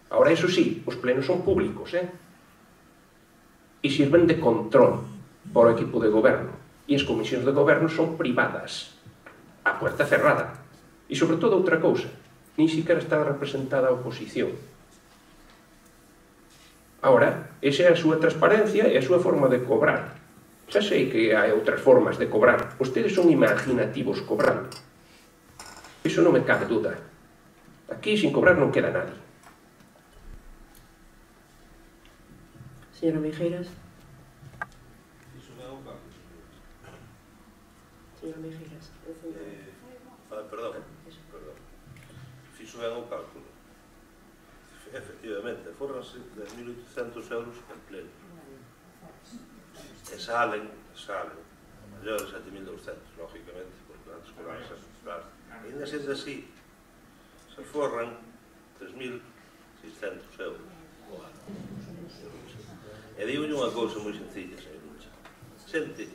Ahora, eso sí, os plenos son públicos, e sirven de control para o equipo de goberno, e as comisións de goberno son privadas, a puerta cerrada. E, sobre todo, outra cousa, nin siquiera está representada a oposición. Ahora, esa é a súa transparencia e a súa forma de cobrar. Xa sei que hai outras formas de cobrar. Vostedes son imaginativos cobrando. Iso non me cabe duda. Aquí, sin cobrar, non queda nadie. Señora Mijeiras. Señora Mijeiras. Perdón. Fixo ben o cálculo. Efectivamente, forranse 10.800 euros en pleno. E salen maiores 7.200, lógicamente, porque antes cobrarse, claro. E ainda sendo así, se forran 3.600 euros. E digo unha cousa moi sencilla, señor Lucha. Xente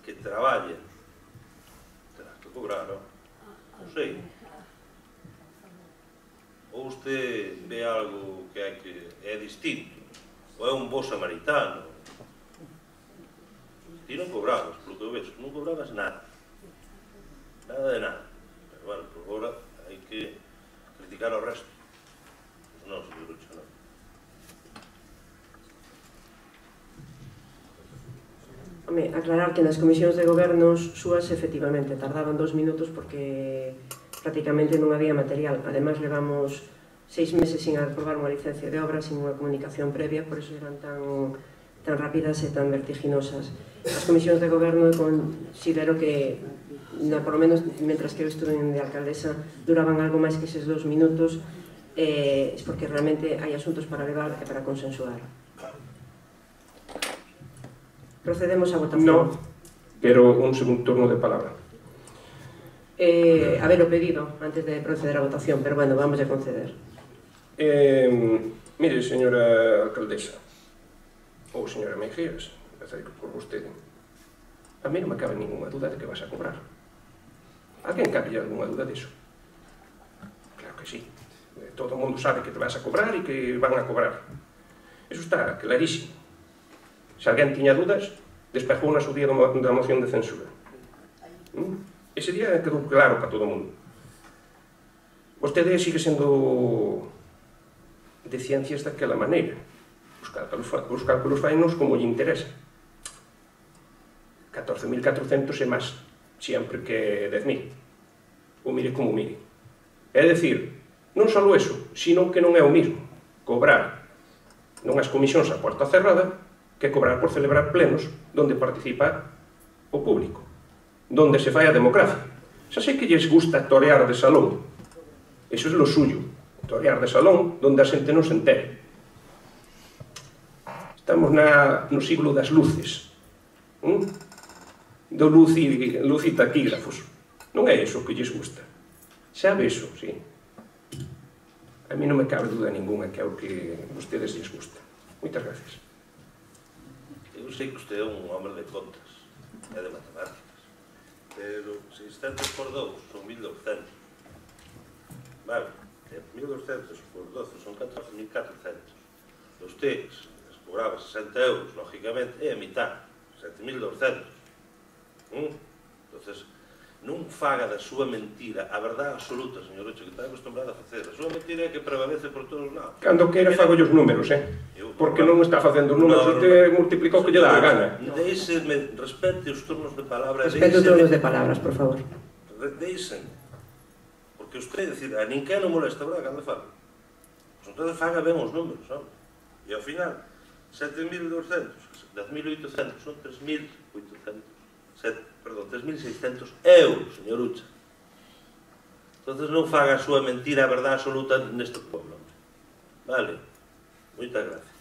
que traballa, terás que cobrar, non? Non sei. Ou usted ve algo que é distinto, ou é un bo samaritano. Ti non cobrabas, polo que eu vexo, non cobrabas nada. Nada de nada. Pero, bueno, por agora hai que criticar ao resto. Pois non, señor Lucha, non. Home, aclarar que nas comisións de gobernos súas efectivamente tardaban 2 minutos porque prácticamente non había material. Ademais, levamos 6 meses sin aprobar unha licencia de obra, sin unha comunicación previa, por eso eran tan rápidas e tan vertiginosas. As comisións de goberno considero que, por lo menos, mentras que eu estuve de alcaldesa, duraban algo máis que eses 2 minutos, porque realmente hai asuntos para levar e para consensuar. Procedemos a votación. No, pero un segundo turno de palabra. Haber o pedido antes de proceder a votación, pero bueno, vamos a conceder. Mire, señora alcaldesa, ou señora Mejías, empezarei por vostede. A mí non me cabe ninguna duda de que vas a cobrar. A quen cabe alguna duda diso? Claro que sí. Todo o mundo sabe que te vas a cobrar e que van a cobrar. Eso está clarísimo. Se alguén tiña dudas, despejou na su día da moción de censura. Ese día quedou claro para todo o mundo. Vostede sigue sendo de ciencias daquela maneira. Os cálculos fainos como lle interesa. 14.400 e máis, sempre que 10.000. O mire como mire. É dicir, non só eso, sino que non é o mismo cobrar nunhas comisións a porta cerrada que cobrar por celebrar plenos donde participa o público, donde se fai a democracia. Xa sei que lles gusta torear de salón, eso é lo suyo, torear de salón donde a xente non se entere. Estamos no siglo das luces, do luz e taquígrafos. Non é iso que lles gusta. Sabe iso, sí. A mí non me cabe duda ninguna que é o que a vostedes lles gusta. Moitas gracias. Eu sei que usted é un hombre de contas e de matemáticas, pero 600 por 2 son 1.200. Vale, 1.200 por 12 son 14.400. Usted cobraba 60 euros, lógicamente, é a mitad, 7.200. Entonces, non faga da súa mentira a verdade absoluta, señor Rocha, que está acostumbrado a facer. A súa mentira é que prevalece por todos os lados. Cando queira fago os números, porque non está facendo os números, usted multiplicou que lle dá a gana. Deixeme, respete os turnos de palabra. Respete os turnos de palabras, por favor. Deixen. Porque usted decide, a ninguén non molesta, verdad, cando fala. Pues entonces faga ben os números, non? E ao final, 7.200, 10.800, son 3.600 euros, señor Ucha. Entonces non faga a súa mentira a verdade absoluta neste pueblo. Vale? Moitas gracias.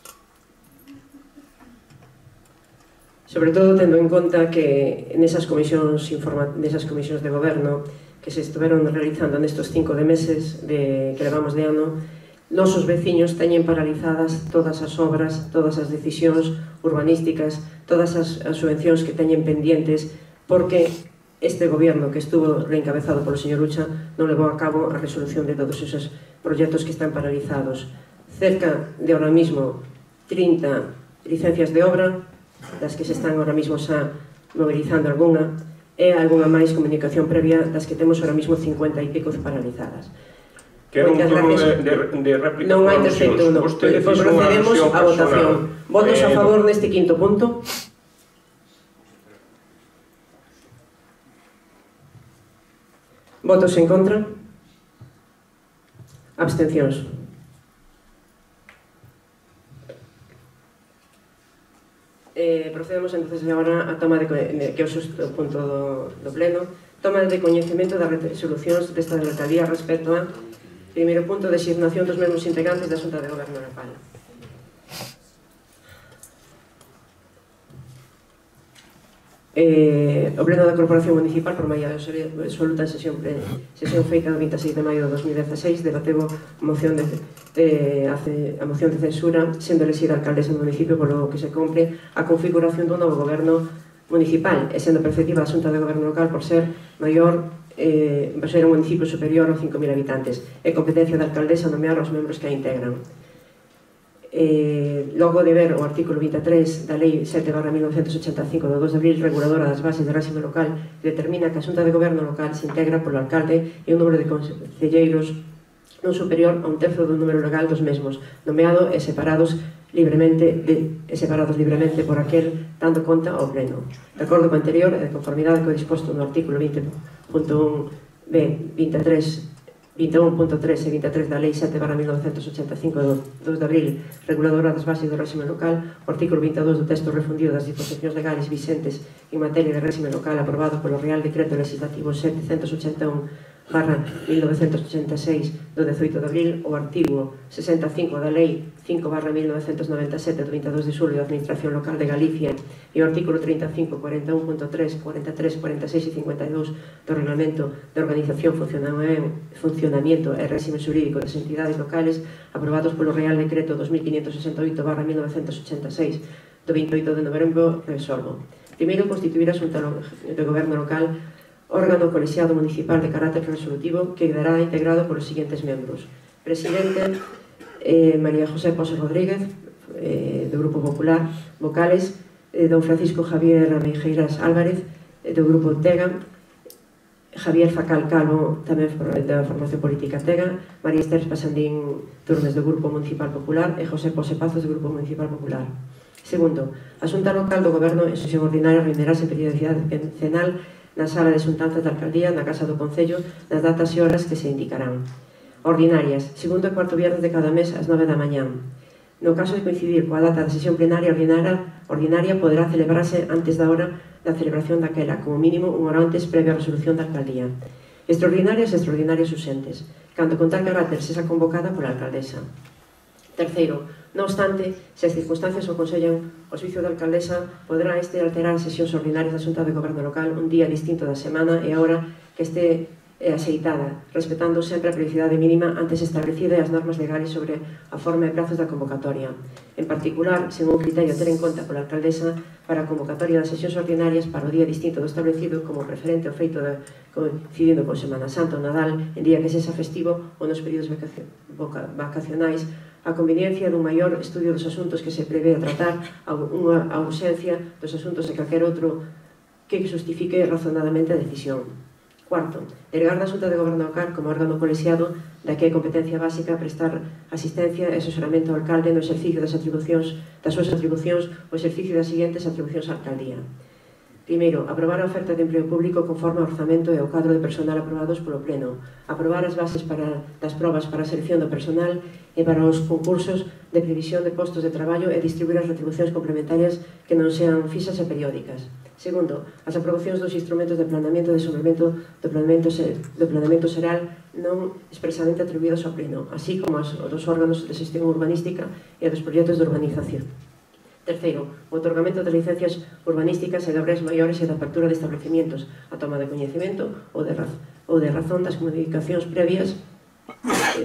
Sobre todo tendo en conta que nesas comisións de goberno que se estuveron realizando nestes 5 meses que levamos de ano, nosos veciños teñen paralizadas todas as obras, todas as decisións urbanísticas, todas as subvencións que teñen pendientes, porque este goberno que estuvo reencabezado polo señor Ucha non levou a cabo a resolución de todos esos proxectos que están paralizados. Cerca de ahora mismo 30 licencias de obra, das que se están ahora mismo xa mobilizando algunha, e algunha máis comunicación previa das que temos ahora mismo 50 e pico paralizadas. Quero un turno de réplica. Non hai terceiro turno. Procedemos a votación. Votos a favor neste quinto punto. Votos en contra. Abstencións. Procedemos entonces agora a toma de que é o sexto punto do pleno. Toma de coñecemento das resolucións desta alcaldía respecto a primeiro punto, designación dos mesmos integrantes da Xunta de Goberno local. O Pleno da Corporación Municipal, por maioría absoluta en sesión feita do 26 de maio de 2016, debateu a moción de censura, sendo elexida alcaldesa do municipio polo que se cumpre a configuración dun novo goberno municipal, e sendo perceptiva a Xunta de Goberno Local por ser maior, por ser un municipio superior aos 5.000 habitantes, e competencia da alcaldesa nomear os membros que a integran. Logo de ver o artículo 23 da Lei 7/1985 do 2 de abril, reguladora das bases de réxime local, que determina que a Xunta de Goberno Local se integra polo alcalde e un número de concelleiros non superior a un terzo do número legal dos mesmos, nomeado e separados libremente por aquel dando conta ao pleno. De acordo co anterior e de conformidade co disposto no artículo 20.1b, 21.3 e 23 da Lei 7/1985 do 2 de abril, reguladora das bases do réxime local, o artículo 22 do texto refundido das disposicións legais vixentes en materia de réxime local aprobado polo Real Decreto Legislativo 781/1986 do 18 de abril, o artigo 65 da Lei 5/1997 do 22 de xullo da Administración Local de Galicia e o artículo 35, 41.3, 43, 46 e 52 do Reglamento de Organización, Funcionamiento e Réxime Xurídico das Entidades Locales aprobados polo Real Decreto 2568/1986 do 28 de novembro, resolvo. Primeiro, constituir a Xunta de Goberno Local órgano colexiado municipal de carácter resolutivo que quedará integrado polos seguintes membros: Presidente, María José Pose Rodríguez, do Grupo Popular; vocales, don Francisco Javier Ameixeiras Álvarez, do Grupo Tega; Javier Facal Calvo, tamén da formación política Tega; María Esther Pasandín Turmes, do Grupo Municipal Popular; e José Pose Pazos, do Grupo Municipal Popular. Segundo, a Xunta Local do Goberno en sesión ordinaria reunirase en periodicidade quincenal na sala de xuntanzas da alcaldía, na Casa do Concello, nas datas e horas que se indicarán. Ordinarias, segundo e cuarto viernes de cada mes ás 9 da mañán. No caso de coincidir coa data da sesión plenaria ordinaria poderá celebrarse antes da hora da celebración daquela, como mínimo unha hora antes, previa resolución da alcaldía. Extraordinarias e extraordinarias usentes, cando con tal carácter sexa convocada pola alcaldesa. Terceiro, non obstante, se as circunstancias o aconsellan, o servicio da alcaldesa poderá alterar as sesións ordinarias da Xunta de Goberno Local un día distinto da semana e a hora que este axeitada, respetando sempre a periodicidade mínima antes establecida e as normas legales sobre a forma e prazos da convocatoria. En particular, sen un criterio a ter en conta pola alcaldesa para a convocatoria das sesións ordinarias para o día distinto do establecido como preferente o feito de coincidindo con Semana Santa ou Nadal, en día que sexa festivo ou nos períodos vacacionais, a conveniencia dun maior estudio dos asuntos que se prevé a tratar, a ausencia dos asuntos de calquer outro que justifique razonadamente a decisión. Cuarto, delegar da Xunta de Goberno Local como órgano colexiado da que é competencia básica prestar asistencia e asesoramento ao alcalde no exercicio das súas atribucións ou exercicio das seguintes atribucións á alcaldía. Primeiro, aprobar a oferta de emprego público conforme ao orzamento e ao cadro de personal aprobados polo Pleno. Aprobar as bases das probas para a selección do personal e para os concursos de previsión de postos de traballo e distribuir as retribucións complementarias que non sean fixas e periódicas. Segundo, as aprobacións dos instrumentos de planeamento e desenvolvemento do planeamento xeral non expresamente atribuídos ao Pleno, así como dos órganos de xestión urbanística e dos proxectos de urbanización. Terceiro, o otorgamento de licencias urbanísticas e de obras maiores e da apertura de establecimientos, a toma de coñecemento ou de razón das comunicacións previas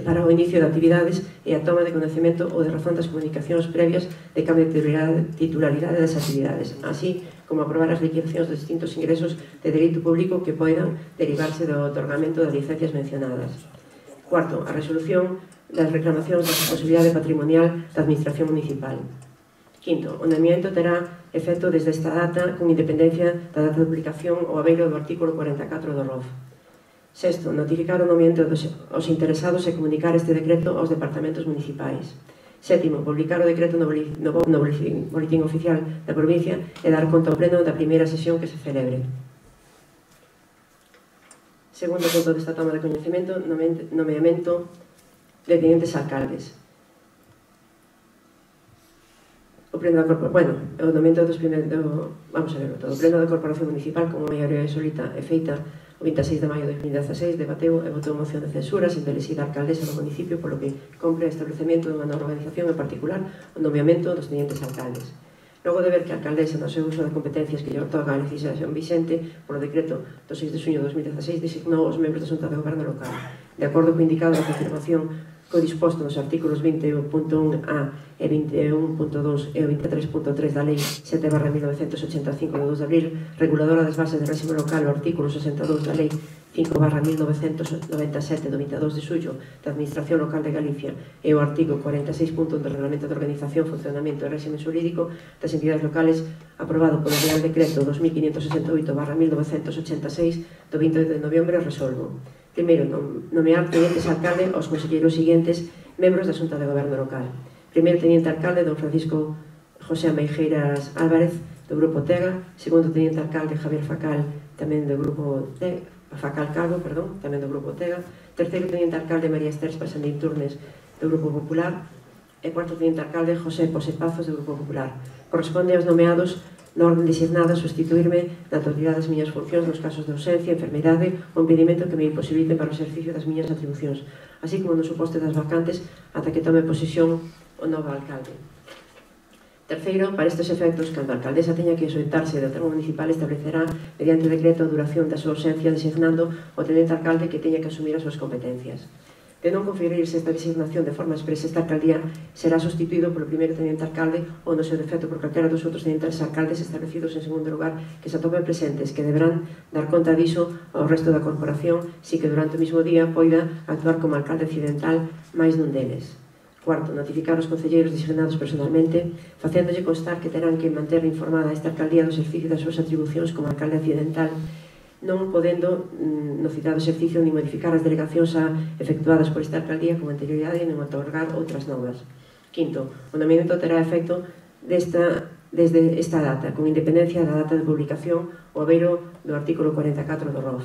para o inicio de actividades e a toma de coñecemento ou de razón das comunicacións previas de cambio de titularidade das actividades, así como aprobar as liquidacións dos distintos ingresos de dereito público que poidan derivarse do otorgamento das licencias mencionadas. Cuarto, a resolución das reclamacións da responsabilidade patrimonial da Administración Municipal. Quinto, o nomeamento terá efecto desde esta data con independencia da data de publicación ou abeiro do artículo 44 do ROF. Sexto, notificar o nomeamento aos interesados e comunicar este decreto aos departamentos municipais. Sétimo, publicar o decreto no boletín oficial da provincia e dar conta ao pleno da primeira sesión que se celebre. Segundo punto desta toma de coñecemento, nomeamento de tenientes alcaldes. O pleno da Corporación Municipal, como maioría absoluta e feita o 26 de maio de 2016, debateu e votou moción de censura sin elixida alcaldesa do municipio, polo que compre o establecemento dunha nova organización, en particular o nomeamento dos tenientes alcaldes. Logo de ver que a alcaldesa, no seu uso de competencias que lle otorga a legislación vixente polo decreto do 6 de xuño de 2016, designou os membros da Xunta de Goberno local. De acordo co indicado na confirmación co disposto nos artículos 21.1a e 21.2 e 23.3 da Lei 7/1985 de 2 de abril, reguladora das bases de réxime local, o artículo 62 da Lei 5/1997 do 22 de xullo da Administración Local de Galicia e o artigo 46.1 do Reglamento de Organización, Funcionamento e Réxime Xurídico das entidades locales aprobado polo Real Decreto 2568/1986 do 20 de novembro resolvo. Primeiro, nomear tenientes alcalde aos conselleiros seguintes membros da Xunta de Goberno local. Primeiro teniente alcalde, don Francisco José Ameijeiras Álvarez, do Grupo Tega. Segundo teniente alcalde, Javier Facal, tamén do Grupo Tega. Facal Calvo, perdón, tamén do Grupo Tega. Terceiro teniente alcalde, María Esther Pasandín Turnes, do Grupo Popular. E cuarto teniente alcalde, José Posepazos, do Grupo Popular. Corresponde aos nomeados na orden designada sustituirme na totalidade das miñas funcións nos casos de ausencia, enfermidade ou impedimento que me imposibilite para o exercicio das miñas atribucións, así como no suposto das vacantes ata que tome posesión o novo alcalde. Terceiro, para estes efectos, cando a alcaldesa teña que ausentarse do termo municipal, establecerá mediante decreto a duración da súa ausencia designando o tenente alcalde que teña que asumir as súas competencias. De non conferirse esta designación de forma expresa, esta alcaldía será sustituído polo primeiro tenente alcalde ou no seu defecto por calquera dos outros tenentes alcaldes establecidos en segundo lugar que se atopen presentes, que deberán dar conta diso ao resto da corporación si que durante o mismo día poida actuar como alcalde accidental máis dun deles. Cuarto, notificar aos concelleiros designados personalmente, facéndolle constar que terán que manter informada esta alcaldía do exercicio das súas atribucións como alcalde accidental, non podendo no citado exercicio ni modificar as delegacións efectuadas por esta alcaldía con anterioridade nin otorgar outras novas. Quinto, o nomeamento terá efecto desde esta data, con independencia da data de publicación ou abeiro do artículo 44 do ROF.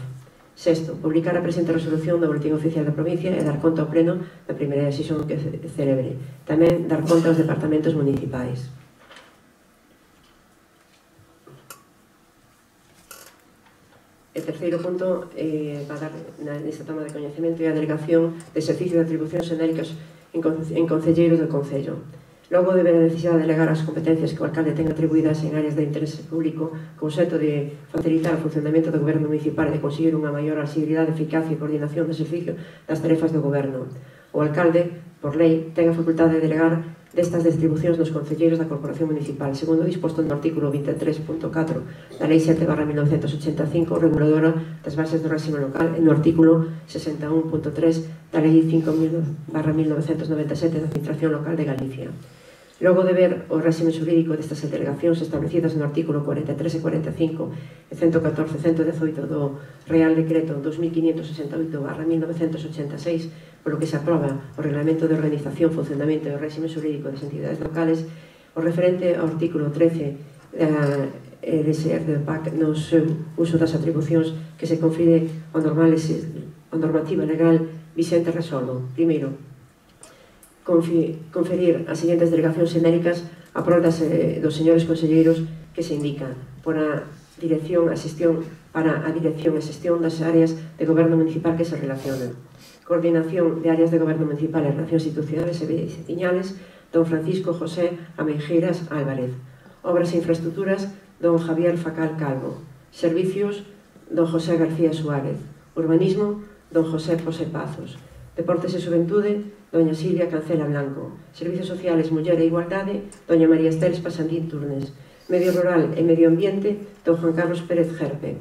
Sexto, publicar a presente resolución no Boletín Oficial da Provincia e dar conta ao Pleno da primeira sesión que celebre. Tamén dar conta aos departamentos municipais. E terceiro punto, para dar nesta toma de coñecemento é a delegación de exercicio de atribucións xenéricas en concelleiros do Concello. Logo de ver a necesidade de delegar as competencias que o alcalde ten atribuídas en áreas de interese público con xeito de facilitar o funcionamento do goberno municipal e de conseguir unha maior asiduidade, eficacia e coordinación do exercicio das tarefas do goberno. O alcalde, por lei, ten a facultade de delegar destas distribucións nos concelleiros da Corporación Municipal, segundo disposto no artículo 23.4 da Lei 7/1985, reguladora das bases do réxime local, e no artículo 61.3 da Lei 5.000/1997 da Administración Local de Galicia. Logo de ver o réxime xurídico destas delegacións establecidas no artículo 43 e 45 e 114 e 118 do Real Decreto 2568/1986, polo que se aproba o Reglamento de Organización, Funcionamento e Réxime Xurídico das entidades locales, o referente ao artículo 13 da LSR do PAC no seu uso das atribucións que se confide ao normativa legal vixente resolvo. Primeiro, conferir as seguintes delegacións xenéricas a prol dos señores conselleiros que se indican para a dirección e xestión das áreas de goberno municipal que se relacionan. Coordinación de áreas de goberno municipal e relacións institucionales e veciñales, don Francisco José Ameijeiras Álvarez. Obras e infraestructuras, don Javier Facal Calvo. Servicios, don José García Suárez. Urbanismo, don José Posepazos. Deportes e Xuventude, doña Silvia Cancela Blanco. Servicios Sociales, Muller e Igualdade, doña María Esther Pasandín Turnes. Medio Rural e Medio Ambiente, don Juan Carlos Pérez Gerpe.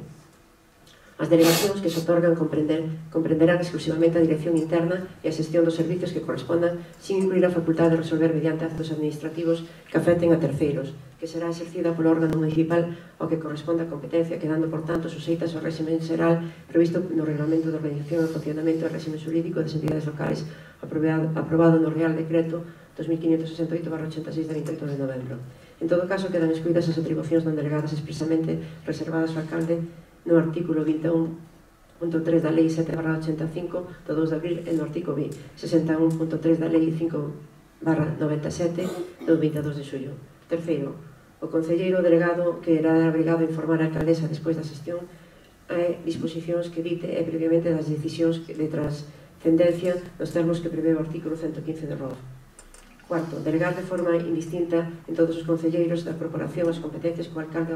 As delegacións que se otorgan comprenderán exclusivamente a dirección interna e a xestión dos servicios que correspondan, sin incluir a facultade de resolver mediante actos administrativos que afecten a terceiros, que será exercida polo órgano municipal ao que corresponda a competencia, quedando, por tanto, suxeitas ao réxime xeral previsto no Reglamento de Organización e Funcionamento e Réxime Xurídico das entidades locales aprobado no Real Decreto 2568/86 de 28 de novembro. En todo caso, quedan excluídas as atribucións non delegadas expresamente reservadas ao alcalde no artículo 21.3 da Lei 7/85 do 2 de abril e no artículo 61.3 da Lei 5/97 do 22 de xullo. Terceiro, o concelleiro delegado que era obrigado a informar a alcaldesa despois da xestión a disposicións que dite e previamente das decisións de trascendencia nos termos que prevé o artículo 115 do ROF. Cuarto, delegar de forma indistinta en todos os concelleiros da corporación as competencias que o alcalde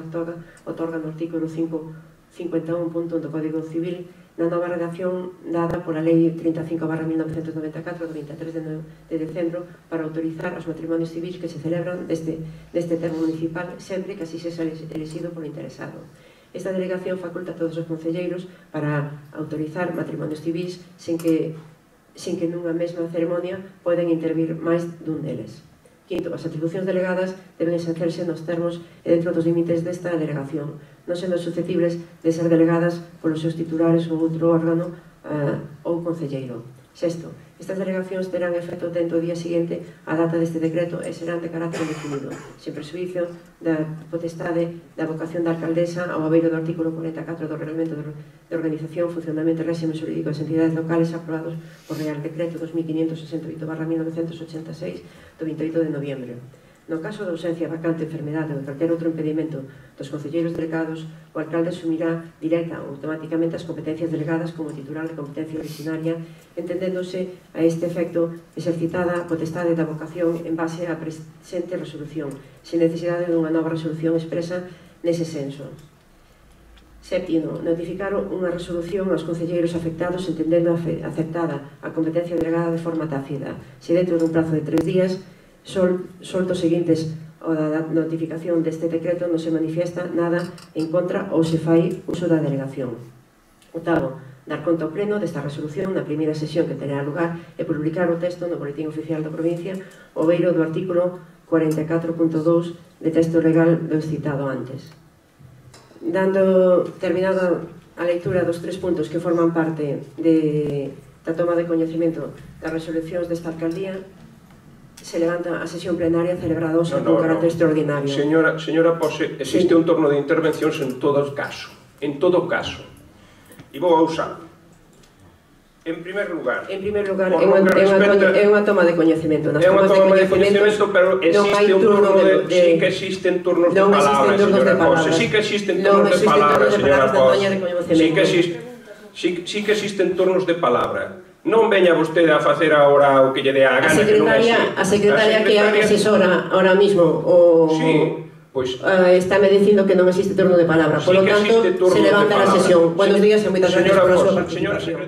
otorga no artículo 51.1 do Código Civil na nova redacción dada pola Lei 35/1994 do 23 de decembro para autorizar os matrimonios civis que se celebran neste termo municipal sempre que así sexa elixido polo interesado. Esta delegación faculta a todos os concelleiros para autorizar matrimonios civis sin que nunha mesma ceremonia poden intervir máis dun deles. Quinto, as atribucións delegadas deben exercerse nos termos e dentro dos límites desta delegación, non sendo susceptibles de ser delegadas polos seus titulares ou outro órgano ou concelleiro. Sexto, estas delegacións terán efecto dentro do día seguinte á data deste decreto e serán de carácter definido, sen prexuízo da potestade da vocación da alcaldesa ao abeiro do artículo 44 do Reglamento de Organización, Funcionamento e Réxime Xurídico das Entidades Locales aprobados por Real Decreto 2568/1986 do 28 de noviembre. No caso de ausencia, vacante, enfermedade ou calquer outro impedimento dos concelleiros delegados, o alcalde asumirá directa ou automáticamente as competencias delegadas como titular de competencia originaria, entendéndose a este efecto exercitada a potestade da vocación en base á presente resolución, sen necesidade dunha nova resolución expresa nese senso. Séptimo, notificar unha resolución aos concelleiros afectados entendendo aceptada a competencia delegada de forma tácita, se dentro dun prazo de 3 días soltos seguintes ao da notificación deste decreto non se manifiesta nada en contra ou se fai uso da delegación. Octavo, dar conta ao pleno desta resolución na primeira sesión que terá lugar e publicar o texto no Boletín Oficial da Provincia ao beiro do artículo 44.2 de texto legal do citado antes. Dando terminada a leitura dos 3 puntos que forman parte da toma de coñecemento das resolucións desta alcaldía, se levanta a sesión plenaria celebrada hoxe con carácter extraordinario. Señora Pose, existe un turno de intervencións en todo caso. E vou a usar. En primer lugar, é unha toma de coñecemento. É unha toma de coñecemento, pero existe un turno de... Sí que existen turnos de palabra, señora Pose. Sí que existen turnos de palabra, señora Pose. Sí que existen turnos de palabra. Non veña vostede a facer agora o que lle dé a gana. A secretaria que asesora ahora mismo está me dicindo que non existe turno de palabra. Por lo tanto, se levanta a sesión. Buenos días e moitas gracias por a súa participación.